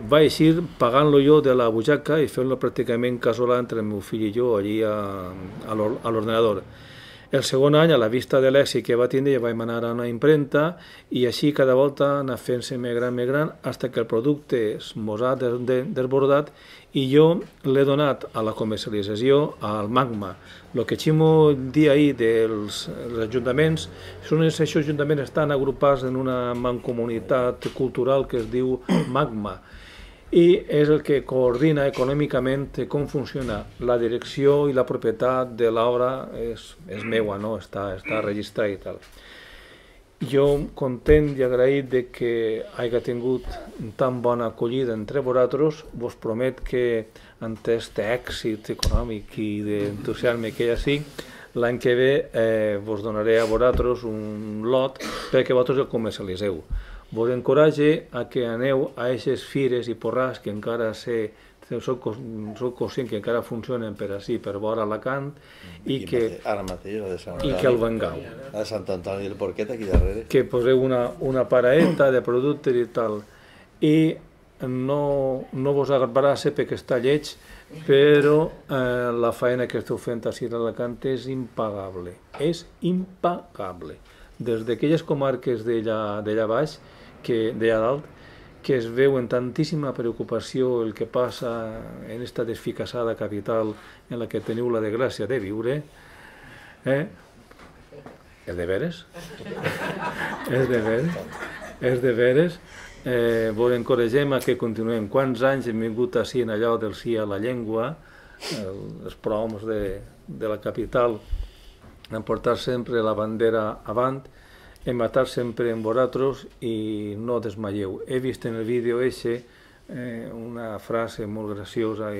vaig ir pagant-lo jo de la butxaca i fent-lo pràcticament casolà entre el meu fill i jo allí a l'ordenador. El segon any, a la vista de l'èxit que va tindre, ja vaig anar a una impremta i així cada volta anar fent-se més gran, fins que el producte mos ha desbordat i jo l'he donat a la comercialització al Magma. El que Ximo dia ahir dels ajuntaments, aquests ajuntaments estan agrupats en una mancomunitat cultural que es diu Magma, i és el que coordina econòmicament com funciona. La direcció i la propietat de l'obra és meua, no? Està registrat i tal. Jo, content i agraït de que hagi tingut tan bona acollida entre vosaltres, vos promet que ante este èxit econòmic i d'entusiasme que hi ha sí, l'any que ve vos donaré a vosaltres un lot perquè vosaltres el comercialitzeu. Vos encoratge a que aneu a aquestes fires i porrars que encara soc conscient que encara funcionen per així, per vora Alacant, i que el vengau. A Sant Antoni del Porquet, aquí darrere. Que poseu una paraeta de productes i tal. I no vos agradarà perquè està lleig, però la feina que esteu fent així a Alacant és impagable. És impagable. Des d'aquelles comarques d'allà baix, d'allà dalt, que es veu en tantíssima preocupació el que passa en esta desficassada capital en la que teniu la desgràcia de viure. És de veres? És de veres. Vos encoratgem a que continuem. Quants anys hem vingut així en allò del sí a la llengua, els proms de la capital, han portat sempre la bandera avant, hem estat sempre amb vosaltres i no desmaieu. He vist en el vídeo una frase molt graciosa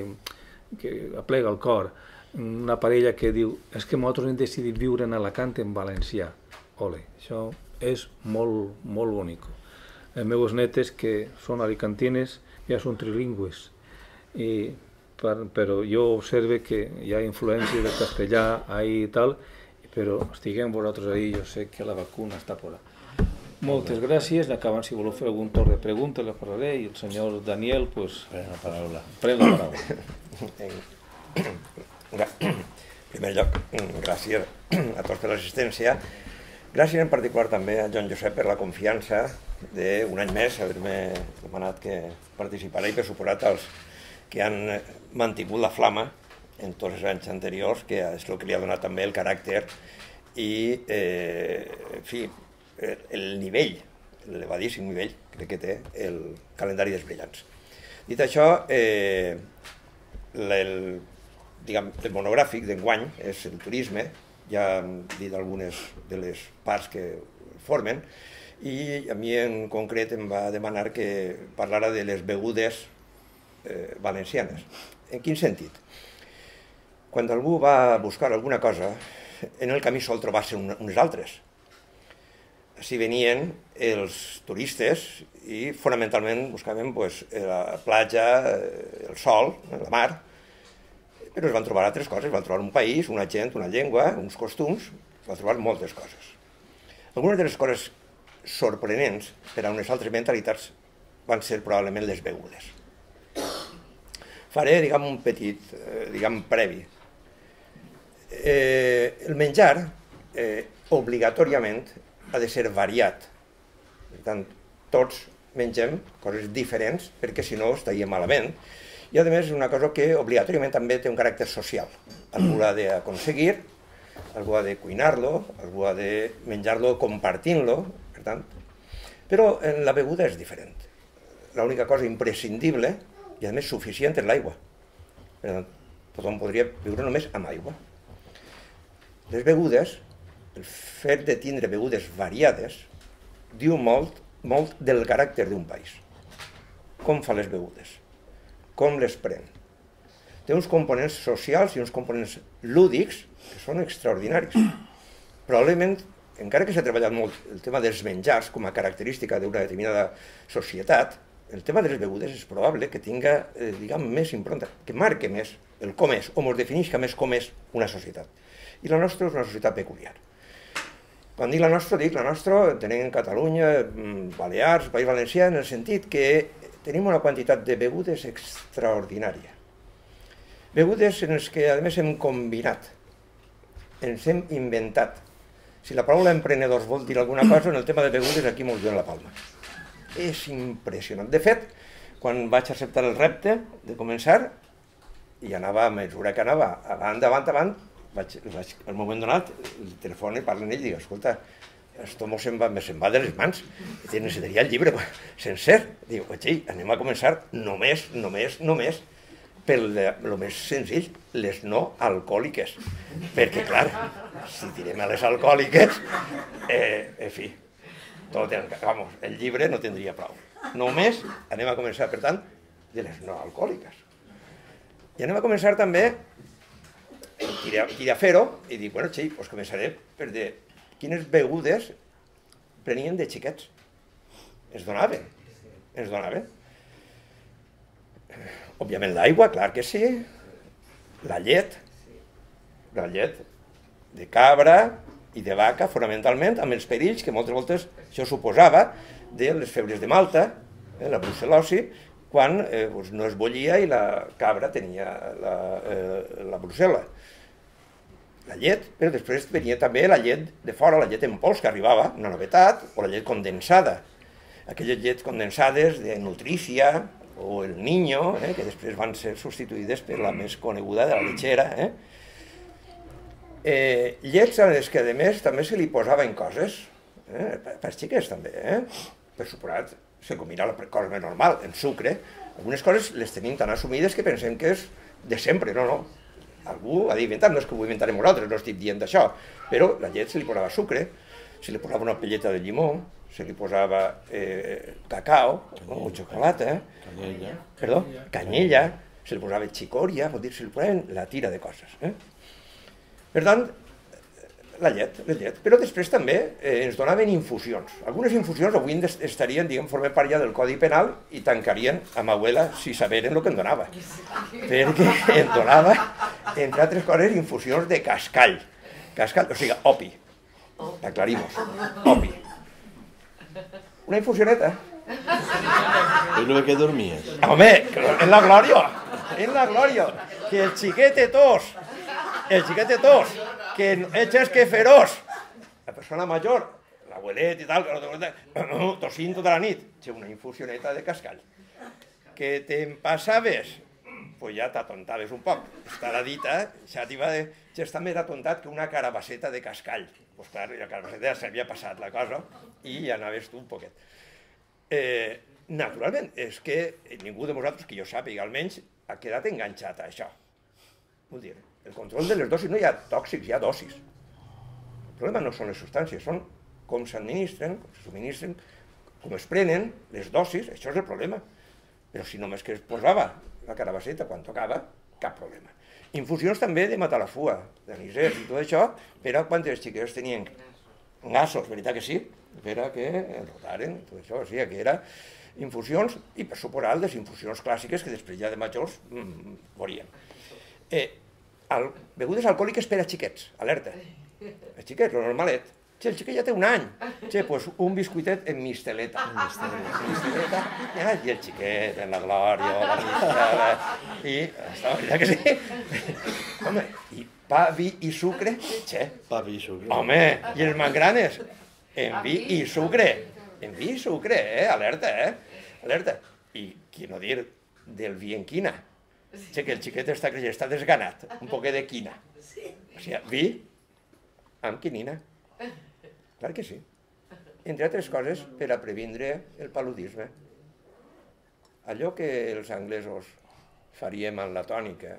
que aplega el cor, una parella que diu és que nosaltres hem decidit viure en Alacant en valencià. Ole, això és molt, molt bonic. Les meves netes, que són alicantines, ja són trilingües, però jo observe que hi ha influència del castellà ahí i tal, però estiguem vosaltres ahí, jo sé que la vacuna està por ahí. Moltes gràcies. Acabant, si voleu fer algun torn de preguntes, les parlaré, i el senyor Daniel, pues, pren la paraula. En primer lloc, gràcies a tots per l'assistència. Gràcies en particular també a Joan Josep per la confiança d'un any més, haver-me demanat que participara, i per suposat als que han mantingut la flama en tots els anys anteriors, que és el que li ha donat també el caràcter i, en fi, el nivell, l'elevadíssim nivell que té el calendari dels brillants. Dit això, el monogràfic d'enguany és el turisme, ja hem dit algunes de les parts que formen, i a mi en concret em va demanar que parlara de les begudes valencianes. En quin sentit? Quan algú va buscar alguna cosa, en el camí sol trobar-se unes altres. s'hi venien els turistes i fonamentalment buscaven la platja, el sol, la mar, però es van trobar altres coses, van trobar un país, una gent, una llengua, uns costums, es van trobar moltes coses. Algunes de les coses sorprenents per a unes altres mentalitats van ser probablement les begudes. Faré, un petit, previ. El menjar, obligatòriament, ha de ser variat. Per tant, tots mengem coses diferents perquè si no estaríem malament. I a més és una cosa que obligatòriament també té un caràcter social. Algú l'ha d'aconseguir, algú ha de cuinar-lo, algú ha de menjar-lo compartint-lo, per tant. Però en la beguda és diferent. L'única cosa imprescindible i a més suficient és l'aigua. Per tant, tothom podria viure només amb aigua. Les begudes, el fet de tindre begudes variades, diu molt del caràcter d'un país. Com fa les begudes? Com les pren? Té uns components socials i uns components lúdics que són extraordinaris. Probablement, encara que s'ha treballat molt el tema dels menjars com a característica d'una determinada societat, el tema de les begudes és probable que tinga, més impronta, que marque més el com és, o ens definisca més com és una societat. I la nostra és una societat peculiar. Quan dic la nostra, tenim Catalunya, Balears, País Valencià, en el sentit que tenim una quantitat de begudes extraordinària. Begudes en les que, a més, hem combinat, ens hem inventat. Si la paraula emprenedors vol dir alguna cosa, en el tema de begudes aquí mos donen la palma. És impressionant. De fet, quan vaig acceptar el repte de començar, i anava a mesura que anava avant, al moment donat, el telèfon i parlo amb ell i dic, escolta, esto se'n va de les mans, necessitaria el llibre sencer. Diu, anem a començar només, per el més senzill, les no alcohòliques. Perquè, clar, si tirem a les alcohòliques, en fi, el llibre no tindria prou. Només anem a començar, per tant, de les no alcohòliques. I anem a començar també, a fer-ho, i dic, doncs començaré per dir quines begudes prenien de xiquets. Ens donaven. Òbviament l'aigua, clar que sí, la llet de cabra i de vaca, fonamentalment, amb els perills que moltes voltes això suposava de les febres de Malta, la brucel·losi, quan no es bullia i la cabra tenia la brucel·la. La llet, però després venia també la llet de fora, la llet en pols que arribava, una novetat, o la llet condensada. Aquelles llets condensades de Nutrícia o el Niño, que després van ser substituïdes per la més coneguda de la lechera. Llets a les que, a més, també se li posaven coses, per als xiquets també. Per suposat, se combina la cosa més normal, en sucre. Algunes coses les tenim tan assumides que pensem que és de sempre, no. Algú ha d'inventar, no és que ho inventarem nosaltres, no estic dient d'això, però la llet se li posava sucre, se li posava una pelleta de llimó, se li posava cacao, o xocolata, canyella, se li posava xicòria, vol dir, se li posaven la tira de coses. Per tant, la llet, però després també ens donaven infusions. Algunes infusions avui estarien, formant part ja del Codi Penal i tancarien amb abuela si saberen el que em donava. Perquè em donava, entre altres coses, infusions de cascall. Cascall, o sigui, opi. Aclarimos, opi. Una infusioneta. ¿Y no que dormías? Home, en la glòria, que el xiquet té tos, que ets que feroç, la persona major, l'abuelet i tal, tosint tota la nit, una infusioneta de cascall. Que te'n passaves, pues ja t'atontaves un poc. Estarà dita, ja està més atontat que una carabasseta de cascall. Pues clar, la carabasseta ja s'havia passat la cosa i ja anaves tu un poquet. Naturalment, és que ningú de vosaltres, que jo sàpiga almenys, ha quedat enganxat a això. Vull dir, el control de les dosis, no hi ha tòxics, hi ha dosis. El problema no són les substàncies, són com s'administren, com se subministren, com es prenen les dosis, això és el problema. Però si només que es posava la carabasseta quan tocava, cap problema. Infusions també de matalafua, d'anisers i tot això, però quan els xiquets tenien gasos, veritat que sí, per a que rotaren, tot això, o sigui que era infusions i per suposar les infusions clàssiques que després ja de majors veuríem. Begudes alcohòliques per a xiquets, alerta, els xiquets, lo normalet. El xiquet ja té un any, doncs un biscuitet en misteleta. Misteleta, i el xiquet en la glòria, la mistela, i està veritat que sí. Home, i pa, vi i sucre, Pa, vi i sucre. home, i els mangranes, en vi i sucre, alerta, alerta. I qui no dir del vi en quina, que el xiquet està creixent, està desganat, un poquet de quina. O sigui, vi amb quinina. Clar que sí. Entre altres coses, per a previndre el paludisme. Allò que els anglesos faríem amb la tònica,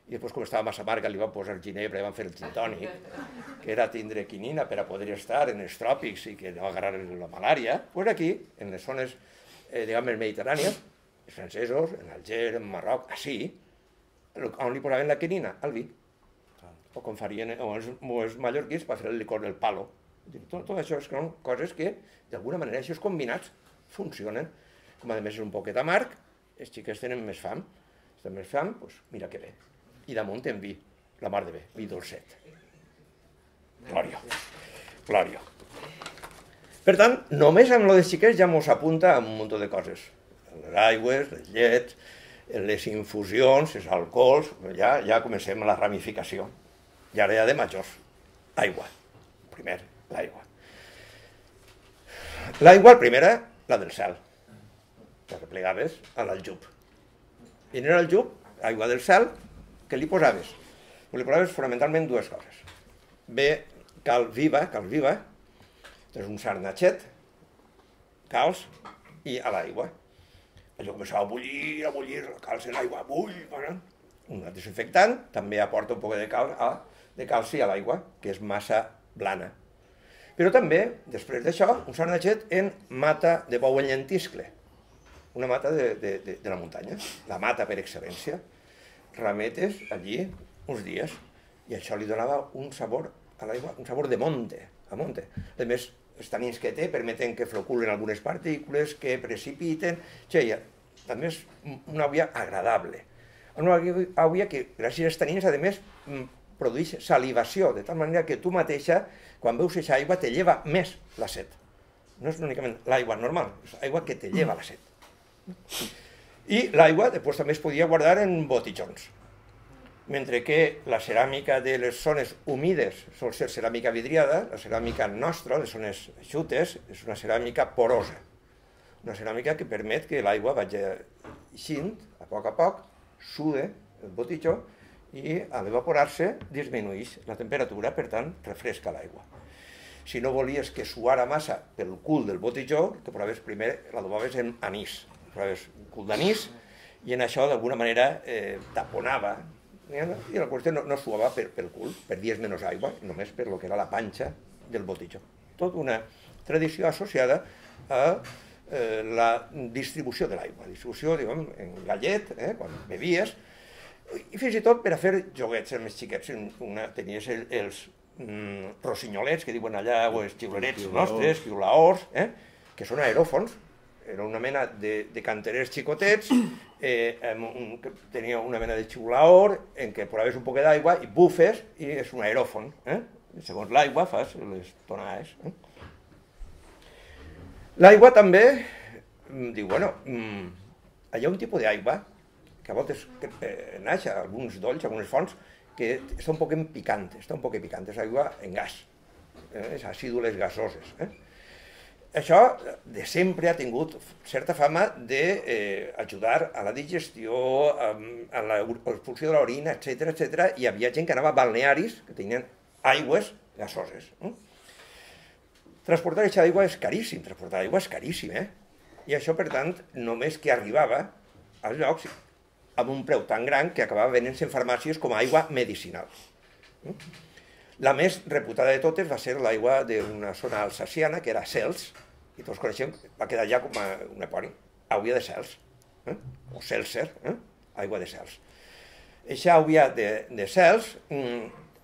i després com estava massa amarga li van posar ginebra i van fer el gin tònic, que era tindre quinina per a poder estar en els tròpics i que no agarrar la malària, doncs aquí, en les zones, diguem, mediterrànies, els francesos, en Alger, en Marroc, així, on li posaven la quinina? Al vi. O com farien els mallorquins per fer el licor del palo. Tot això són coses que, d'alguna manera, aquests combinats funcionen. Com a més és un poquet amarg, els xiquets tenen més fam. Si tenen més fam, doncs mira que bé. I damunt en vi, la mar de bé, vi dolcet. Glòria, glòria. Per tant, només amb lo dels xiquets ja mos apunta a un munt de coses. Les aigües, les llets, les infusions, els alcohols, ja comencem la ramificació. I ara ja de majors. Aigua, primer. L'aigua. L'aigua, primera, la del cel. La replegaves a l'aljub. I en l'aljub, aigua del cel, què li posaves? Li posaves fonamentalment dues coses. Bé, cal viva, és un sarnatxet, calç i a l'aigua. Allò començava a bullir, calç en l'aigua, un desinfectant, també aporta un poc de calci a l'aigua, que és massa blana. Però també, després d'això, un sarnatxet en mata de bou en llentiscle, una mata de la muntanya, la mata per excel·lència. Rametes allí uns dies, i això li donava un sabor a l'aigua, un sabor de monte, a monte. A més, els tanins que té permeten que floculen algunes partícules, que precipiten, també és una aigua agradable. Una aigua que, gràcies als tanins, a més, produeix salivació, de tal manera que tu mateixa, quan veus aquesta aigua, te lleva més la set. No és únicament l'aigua normal, és aigua que te lleva la set. I l'aigua després també es podia guardar en botijons. Mentre que la ceràmica de les zones humides sol ser ceràmica vidriada, la ceràmica nostra, les zones eixutes, és una ceràmica porosa. Una ceràmica que permet que l'aigua vagi eixint, a poc, sude el botijó, i a l'evaporar-se disminueix la temperatura, per tant, refresca l'aigua. Si no volies que suara massa pel cul del botijó, que provaves primer, l'adobaves en anís. Provaves un cul d'anís i en això d'alguna manera taponava, i la qüestió no suava pel cul, perdies menys aigua, només per lo que era la panxa del botijó. Tot una tradició associada a la distribució de l'aigua. Distribució, diguem, en gallet, quan bevies, i fins i tot per a fer joguets amb els xiquets. Tenies els rossinyolets, que diuen allà, o els xiulerets nostres, xiulaors, que són aeròfons. Era una mena de canterers xicotets, que tenia una mena de xiulaor, en què posaves un poc d'aigua i bufes, i és un aeròfon. Segons l'aigua fas les tonades. L'aigua també, diu, bueno, hi ha un tipus d'aigua que a voltes naix a alguns dolls, a algunes fonts, que està un poc picant, és aigua en gas, és àcidules gasoses. Això de sempre ha tingut certa fama d'ajudar a la digestió, a l'expulsió de l'orina, etc. I hi havia gent que anava a balnearis que tenien aigües gasoses. Transportar aquesta aigua és caríssim, i això, per tant, només que arribava als llocs amb un preu tan gran que acabava venent-se en farmàcies com a aigua medicinal. La més reputada de totes va ser l'aigua d'una zona alsaciana, que era Cels, i tots coneixem, va quedar ja com un epònim, aigua de Cels, o Seltzer, aigua de Cels. Eixa aigua de Cels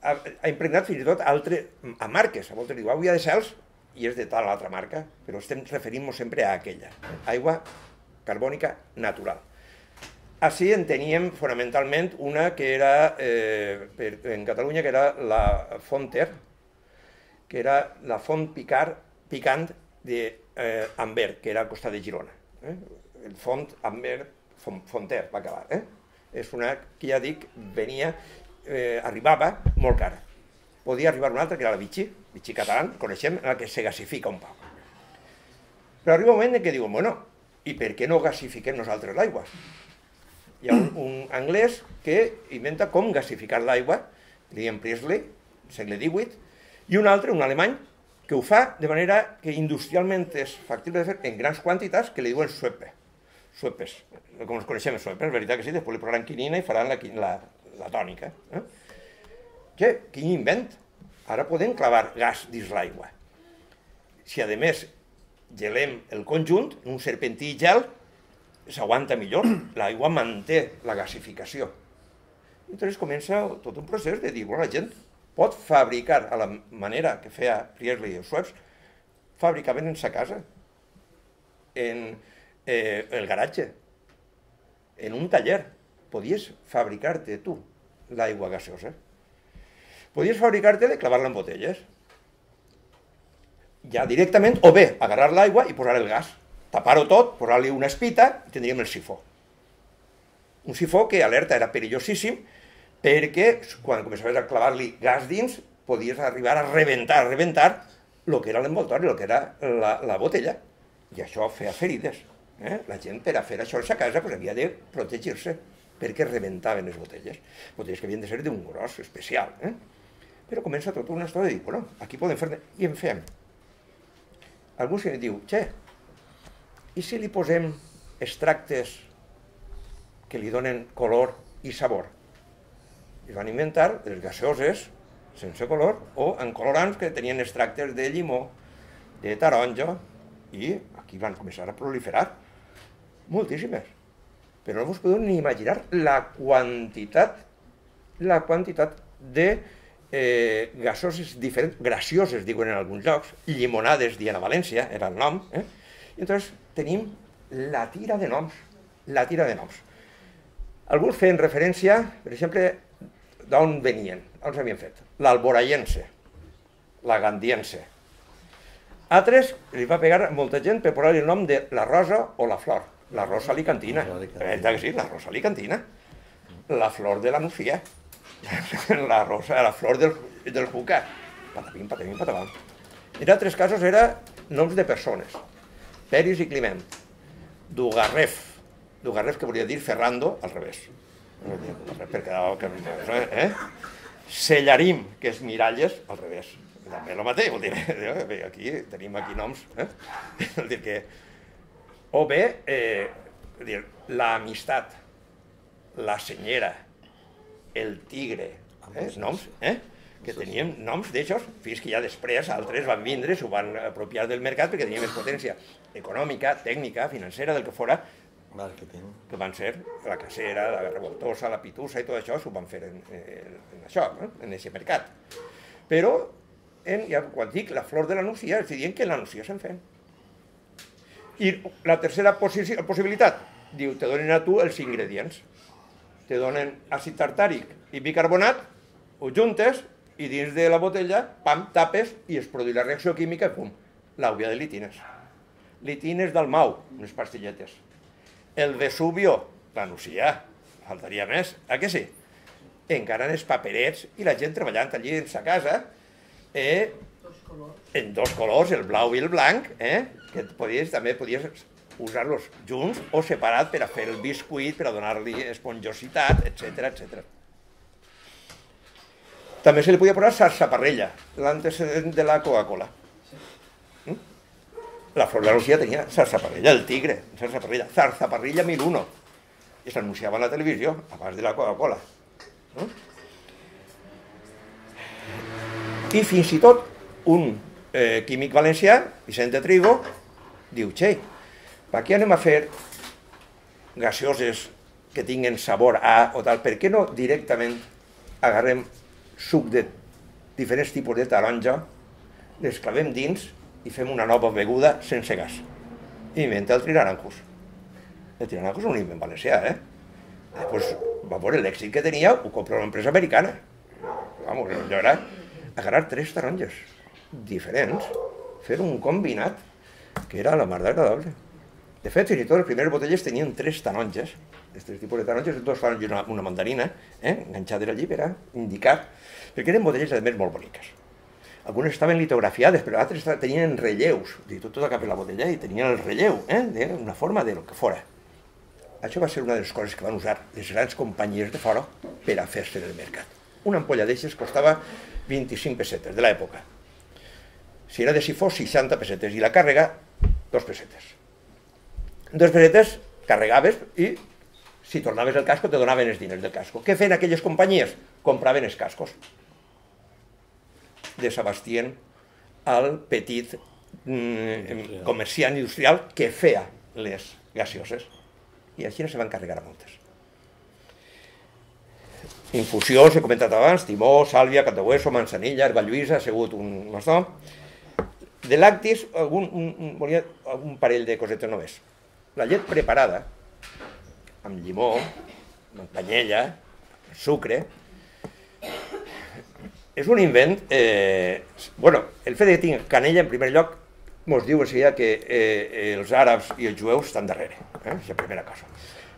ha impregnat fins i tot a marques. A voltes diu aigua de cels i és de tal altra marca, però estem referint-nos sempre a aquella. Aigua carbònica natural. Així en teníem fonamentalment una que era, en Catalunya, que era la Fonter, que era la font picant d'Amber, que era al costat de Girona. El font Amber Fonter va acabar. És una que ja dic, arribava molt cara. Podia arribar una altra, que era la Vichy català, coneixem, en la que se gasifica un poc. Però arriba un moment en què diuen, bueno, i per què no gasifiquem nosaltres l'aigua? Hi ha un anglès que inventa com gasificar l'aigua, William Priestley, segle XVIII, i un altre, un alemany, que ho fa de manera que industrialment és factible de fer en grans quantitats, que li diuen suepes, com els coneixem els suepes, és veritat que sí, després li posaran quinina i faran la tònica. Quin invent! Ara podem clavar gas dins l'aigua. Si a més gelem el conjunt, un serpentí i gel, s'aguanta millor, l'aigua manté la gasificació. I llavors comença tot un procés de dir, la gent pot fabricar a la manera que feia Priestley i els suecs, fabricaven en sa casa, en el garatge, en un taller. Podies fabricar-te tu l'aigua gaseosa. Podies fabricar-te de clavar-la en botelles. Ja directament, o bé, agarrar l'aigua i posar el gas, tapar-ho tot, posar-li una espita i tindríem el sifó. Un sifó que alerta era perillosíssim perquè quan començaves a clavar-li gas dins podies arribar a rebentar el que era l'envoltori, el que era la botella. I això feia ferides. La gent per a fer això a sa casa havia de protegir-se perquè rebentaven les botelles. Botelles que havien de ser d'un gros especial. Però comença tota una història de dir, bueno, aquí podem fer-ne, i en fem. Algú se diu, i si li posem extractes que li donen color i sabor? I van inventar les gaseoses sense color o en colorants que tenien extractes de llimó, de taronja, i aquí van començar a proliferar moltíssimes. Però no us podeu ni imaginar la quantitat de gasoses diferents, gracioses, diuen en alguns llocs, llimonades, diuen a València, era el nom, i llavors tenim la tira de noms. Alguns feien referència, per exemple, d'on venien, on s'havien fet. L'alboraiense, la gandiense. Altres li va pegar molta gent per posar-li el nom de la rosa o la flor. La rosa alicantina. Sí, la rosa alicantina. La flor de la nucia. La flor del juca. Patapim, patapim, patapam. En altres casos era noms de persones. Peris i Climent. Dugarref. Dugarref que volia dir Ferrando al revés. Sellarim, que és miralles, al revés. També el mateix, vol dir, aquí tenim noms. Vol dir que... O bé, l'amistat, la senyera, el tigre, noms, que teníem noms d'aixòs, fins que ja després altres van vindre, s'ho van apropiar del mercat perquè tenien més potència econòmica, tècnica, financera, del que fora, que van ser la casera, la revoltosa, la pitusa i tot això, s'ho van fer en això, en aquest mercat. Però, quan dic la flor de la nucia, els diuen que la nucia se'n fent. I la tercera possibilitat, diu, te donen a tu els ingredients. Te donen àcid tartàric i bicarbonat, ho juntes i dins de la botella, pam, tapes i es produeix la reacció química i pum, l'àvia de litines. Litines d'Almau, unes pastilletes. El Vesubio, la nucia, faltaria més, que sí? Encara en els paperets i la gent treballant allí en sa casa, en dos colors, el blau i el blanc, que també podies usar-los junts o separat per a fer el biscuit, per a donar-li esponjositat, etc. També se li podia posar sarsaparrella, l'antecedent de la Coca-Cola. La flor de la nucia tenia sarsaparella, el tigre, zarzaparrilla 1001, i s'anunciava a la televisió abans de la Coca-Cola. I fins i tot un químic valencià, Vicente Trigo, diu, per què anem a fer gaseoses que tinguen sabor a o tal? Per què no directament agarrem suc de diferents tipus de taronja, les clavem dins i fem una nova beguda sense gas. Inventa el Trinaranjus. El Trinaranjus és un invent valencià, Pues va veure l'èxit que tenia, ho compra una empresa americana. Vamos, allò era agarrar 3 taronges diferents, fer un combinat que era la mar d'agradable. De fet, fins i tot les primeres botelles tenien 3 taronges, els 3 tipus de taronges, 2 taronges i una mandarina, enganxades allí per a indicar, perquè eren botelles, a més, molt boniques. Algunes estaven litografiades, però altres tenien relleus, tot cap a la botella i tenien el relleu, d'una forma de lo que fora. Això va ser una de les coses que van usar les grans companyies de fora per a fer-se en el mercat. Una ampolla d'eixes costava 25 pessetes de l'època. Si era de sifó, 60 pessetes, i la càrrega, 2 pessetes. 2 pessetes carregaves i si tornaves el casco te donaven els diners del casco. Què feien aquelles companyies? Compraven els cascos. Desabastien al petit comerciant industrial que feia les gaseoses. I així no se van carregar a moltes. Infusió, s'he comentat abans, timó, sàlvia, catahueso, manzanilla, herba lluïsa, ha sigut un bastó. De lactis, volia un parell de cosetes només. La llet preparada, amb llimó, amb canyella, sucre, és un invent... Bueno, el fet de que tingui canella, en primer lloc, ens diu enseguida que els àrabs i els jueus estan darrere, és la primera cosa.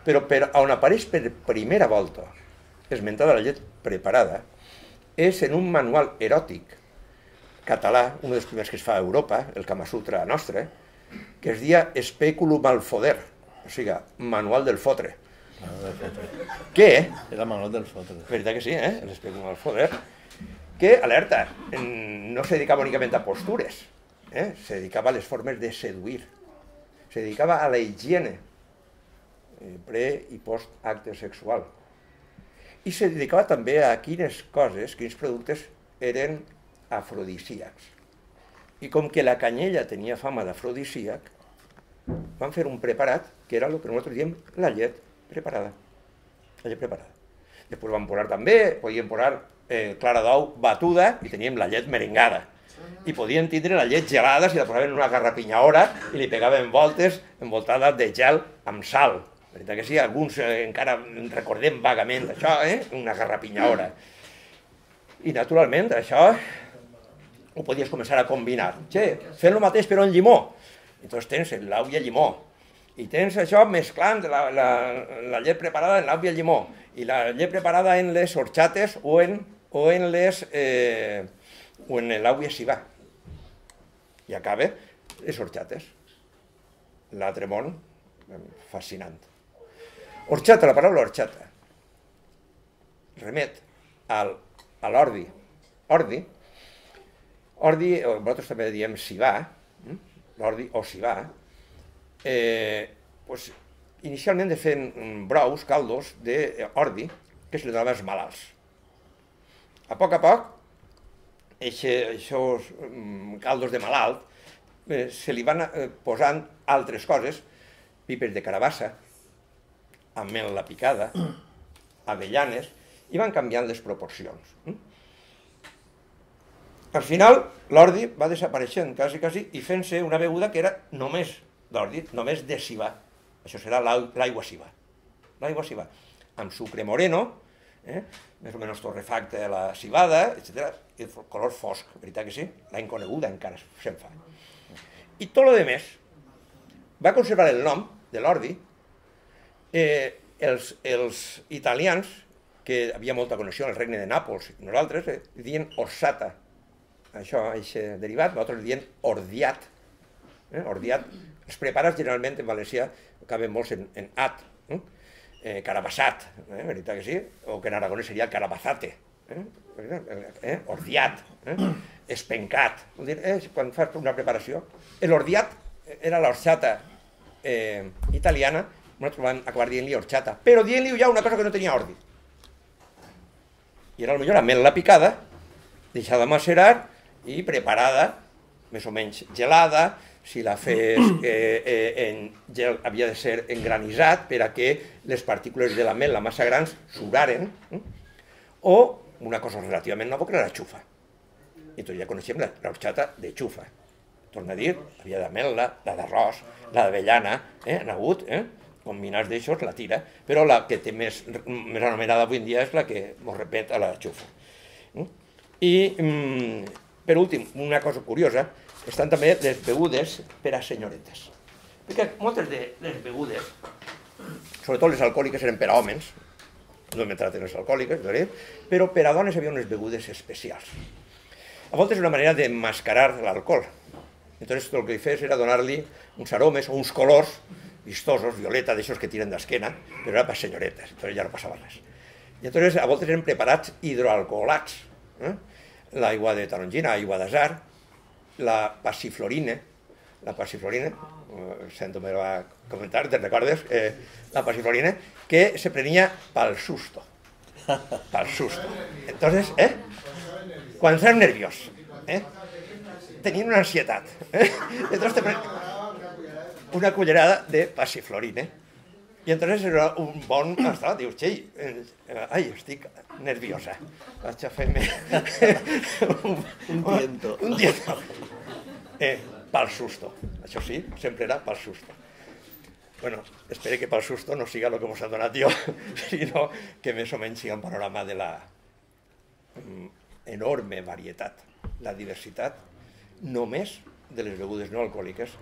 Però on apareix per primera volta esmentada la llet preparada és en un manual eròtic català, un dels primers que es fa a Europa, el Kama Sutra nostre, que es deia Speculum al foder, o sigui, manual del fotre. Què? Era manual del fotre. Veritat que sí, l'Speculum al foder, que, alerta, no se dedicava únicament a postures, se dedicava a les formes de seduir, se dedicava a la higiene pre- i post-acte sexual. I se dedicava també a quines coses, quins productes eren afrodisíacs. I com que la canyella tenia fama d'afrodisíac, van fer un preparat que era el que nosaltres diem la llet preparada. La llet preparada. Després van posar també, podien posar clara d'ou batuda i teníem la llet merengada. I podien tindre la llet gelada si la posaven en una garrapinyadora i li pegaven voltes envoltada de gel amb sal. Veritat que sí, alguns encara recordem vagament això, una garrapinyadora. I naturalment això ho podies començar a combinar. Che, fent el mateix però en llimó. Llavors tens l'au i el llimó. I tens això mesclant la llet preparada en l'au i el llimó. I la llet preparada en les horchates o en l'au i el cibà. I acaba les horchates. L'altre món, fascinant. Horchata, la paraula horchata, remet a l'ordi. Ordi, nosaltres també diem cibà, l'ordi o cibà, inicialment de fent brous, caldos d'ordi, que se li donaven als malalts. A poc, aquests caldos de malalt, se li van posant altres coses, pipes de carabassa, ametlla picada, avellanes, i van canviant les proporcions. Al final, l'ordi va desapareixent quasi i fent-se una beguda que era només d'ordi, només de cibà. Això serà l'aigua cibà. L'aigua cibà, amb sucre moreno, més o menys torrefacte de la cibada, etc. I el color fosc, veritat que sí? L'any coneguda encara se'n fa. I tot el més va conservar el nom de l'ordi. Els italians, que havia molta connexió en el regne de Nàpols, i nosaltres dient orsata. Això, aquest derivat, nosaltres dient ordiat. Ordiat. Els preparats generalment en valencià acaben molts en at. Carabassat, veritat que sí? O que en aragonès seria carabazate. Ordiat. Espencat. Quan fas una preparació. L'ordiat era l'orxata italiana, nosaltres vam acabar dient-li horchata, però dient-li ja una cosa que no tenia ordi. I era potser ametlla picada, deixada macerar i preparada, més o menys gelada. Si la fes en gel havia de ser engranitzat per a que les partícules de l'ametlla massa grans suraren, o una cosa relativament nova, que era la xufa. I tots ja coneixem l'horxata de xufa. Torno a dir, havia d'ametla, la d'arròs, la d'avellana, han hagut, combinats d'això, la tira, però la que té més anomenada avui en dia és la que mos repet a la xufa. I, per últim, una cosa curiosa, estan també les begudes per a senyoretes. Perquè moltes de les begudes, sobretot les alcohòliques, eren per a homes, no hem entrat en les alcohòliques, però per a dones hi havia unes begudes especials. A voltes una manera de mascarar l'alcohol. Entonces el que fes era donar-li uns aromes o uns colors vistosos, violeta, d'aixòs que tiren d'esquena, però era per senyoretes, entonces ja no passava res. I entonces a voltes eren preparats hidroalcoholats. L'aigua de tarongina, aigua d'azar, la passiflorina, sento me va comentar, te'n recordes? La passiflorina, que se prenia pel susto. Pel susto. Entonces, quan estàs nerviós, tenien una ansietat. Entonces te una cullerada de passiflorina. I entonces era un bon estat, dius, xei, ai, estic nerviosa. Vaig a fer-me un tiento. Pel susto. Això sí, sempre era pel susto. Bueno, espero que pel susto no siga el que mos ha donat jo, sinó que més o menys siga un panorama de la enorme varietat, la diversitat, només de les begudes no alcohòliques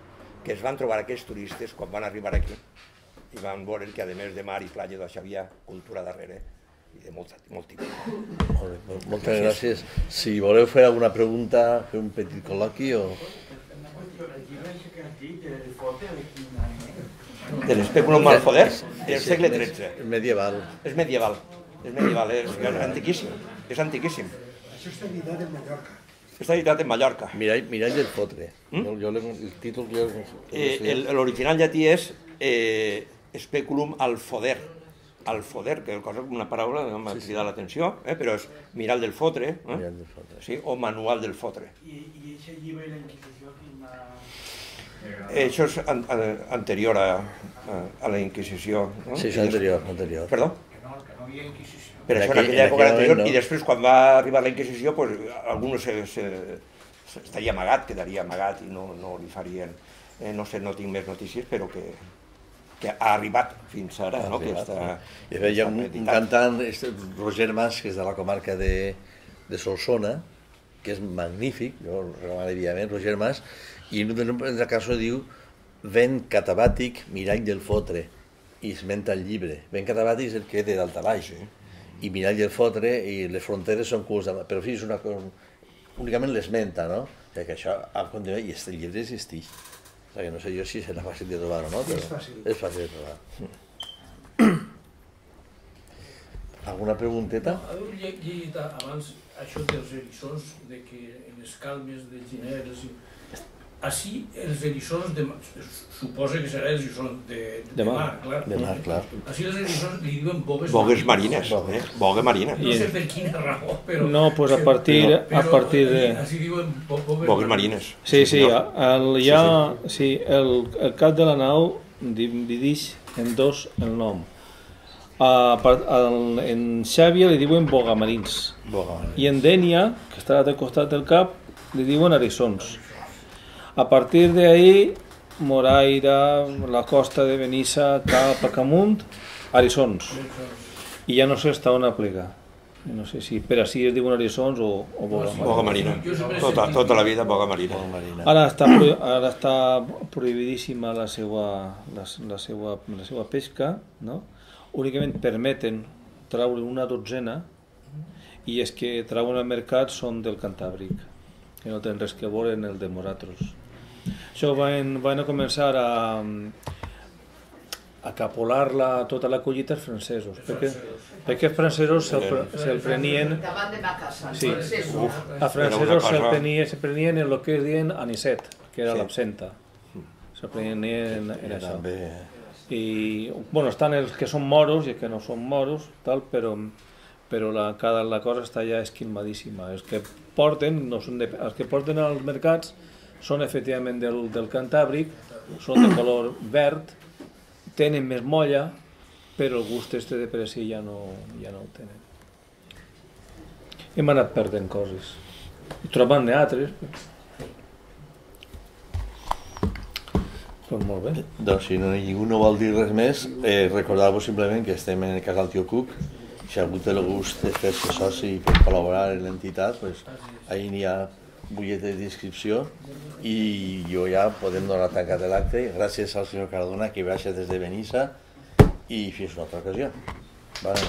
que es van trobar aquells turistes quan van arribar aquí i van veure que, a més de mar i platja, doncs hi havia cultura darrere i de molt tipus. Moltes gràcies. Si voleu fer alguna pregunta, fer un petit col·loqui o... De l'espèculum al poder del segle XIII. És medieval. És medieval, és antiquíssim. És antiquíssim. Això està editat en Mallorca. Està editat en Mallorca. Mirall del Fotre. El títol que jo... L'original llatí és Speculum al Foder. Al Foder, que és una paraula que m'ha cridat l'atenció, però és Mirall del Fotre, o Manual del Fotre. I aquest llibre i la Inquisició, això és anterior a la Inquisició. Sí, és anterior. Perdó? que no havia Inquisició. Per això en aquella època anterior, i després quan va arribar la Inquisició, algú estaria amagat, quedaria amagat i no li farien, no sé, no tinc més notícies, però que ha arribat fins ara. Hi ha un cantant, Roger Mas, que és de la comarca de Solsona, que és magnífic, jo el recomano vivament, Roger Mas, i en una cançó diu Vent catabàtic, mirall del fotre, i esmenta el llibre. Vent catabàtic és el que té d'altabaix, i mirall del fotre, i les fronteres són curs, però sí, és una cosa, únicament l'esmenta, no? Perquè això ha continuat, i el llibre existeix. O sigui, no sé jo si serà fàcil de trobar o no, però és fàcil de trobar. Alguna pregunteta? Heu llegit abans això dels eriçons, que en les calmes de Gineres... Així, els eriçons, suposa que serà els eriçons de mar, clar. De mar, clar. Així els eriçons li diuen bogues marines. Boga marina. No sé per quina raó, però... No, doncs a partir de... Així diuen bogues marines. Sí, el cap de la nau divideix en dos el nom. En Xàbia li diuen bogamarins. I en Dénia, que està al costat del cap, li diuen eriçons. A partir d'ahí, Moraira, la costa de Benissa, cap a Camunt, eriçons. I ja no sé on aplicar. No sé si per així es diuen eriçons o boga marina. Tota la vida boga marina. Ara està prohibidíssima la seva pesca, no? Únicament permeten treure una dotzena i els que treuen al mercat són del Cantàbric, que no tenen res que veure en el de Moratros. Això van a començar a capolar tota la collita els francesos, perquè els francesos se'l prenien... Davant de ma casa, sí, els francesos se prenien en el que es diuen anisset, que era l'absenta. Se prenien en això. I, bueno, estan els que són moros i els que no són moros, però la cosa està ja esquilmadíssima. Els que porten als mercats són efectivament del Cantàbric, són de color verd, tenen més molla, però el gust de per si ja no ho tenen. hem anat perdent coses. I trobant-ne altres. Doncs molt bé. Doncs si ningú no vol dir res més, recordar-vos simplement que estem en el casal Tio Cook. Si algú té el gust de fer-se soci per col·laborar en l'entitat, ahí n'hi ha butlletes d'inscripció i jo ja podem donar tancat l'acte. Gràcies al senyor Cardona que baixa des de Benissa i fins una altra ocasió. Vale.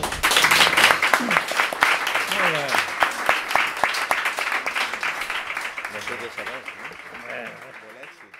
No sé què serà, no? Bon èxit,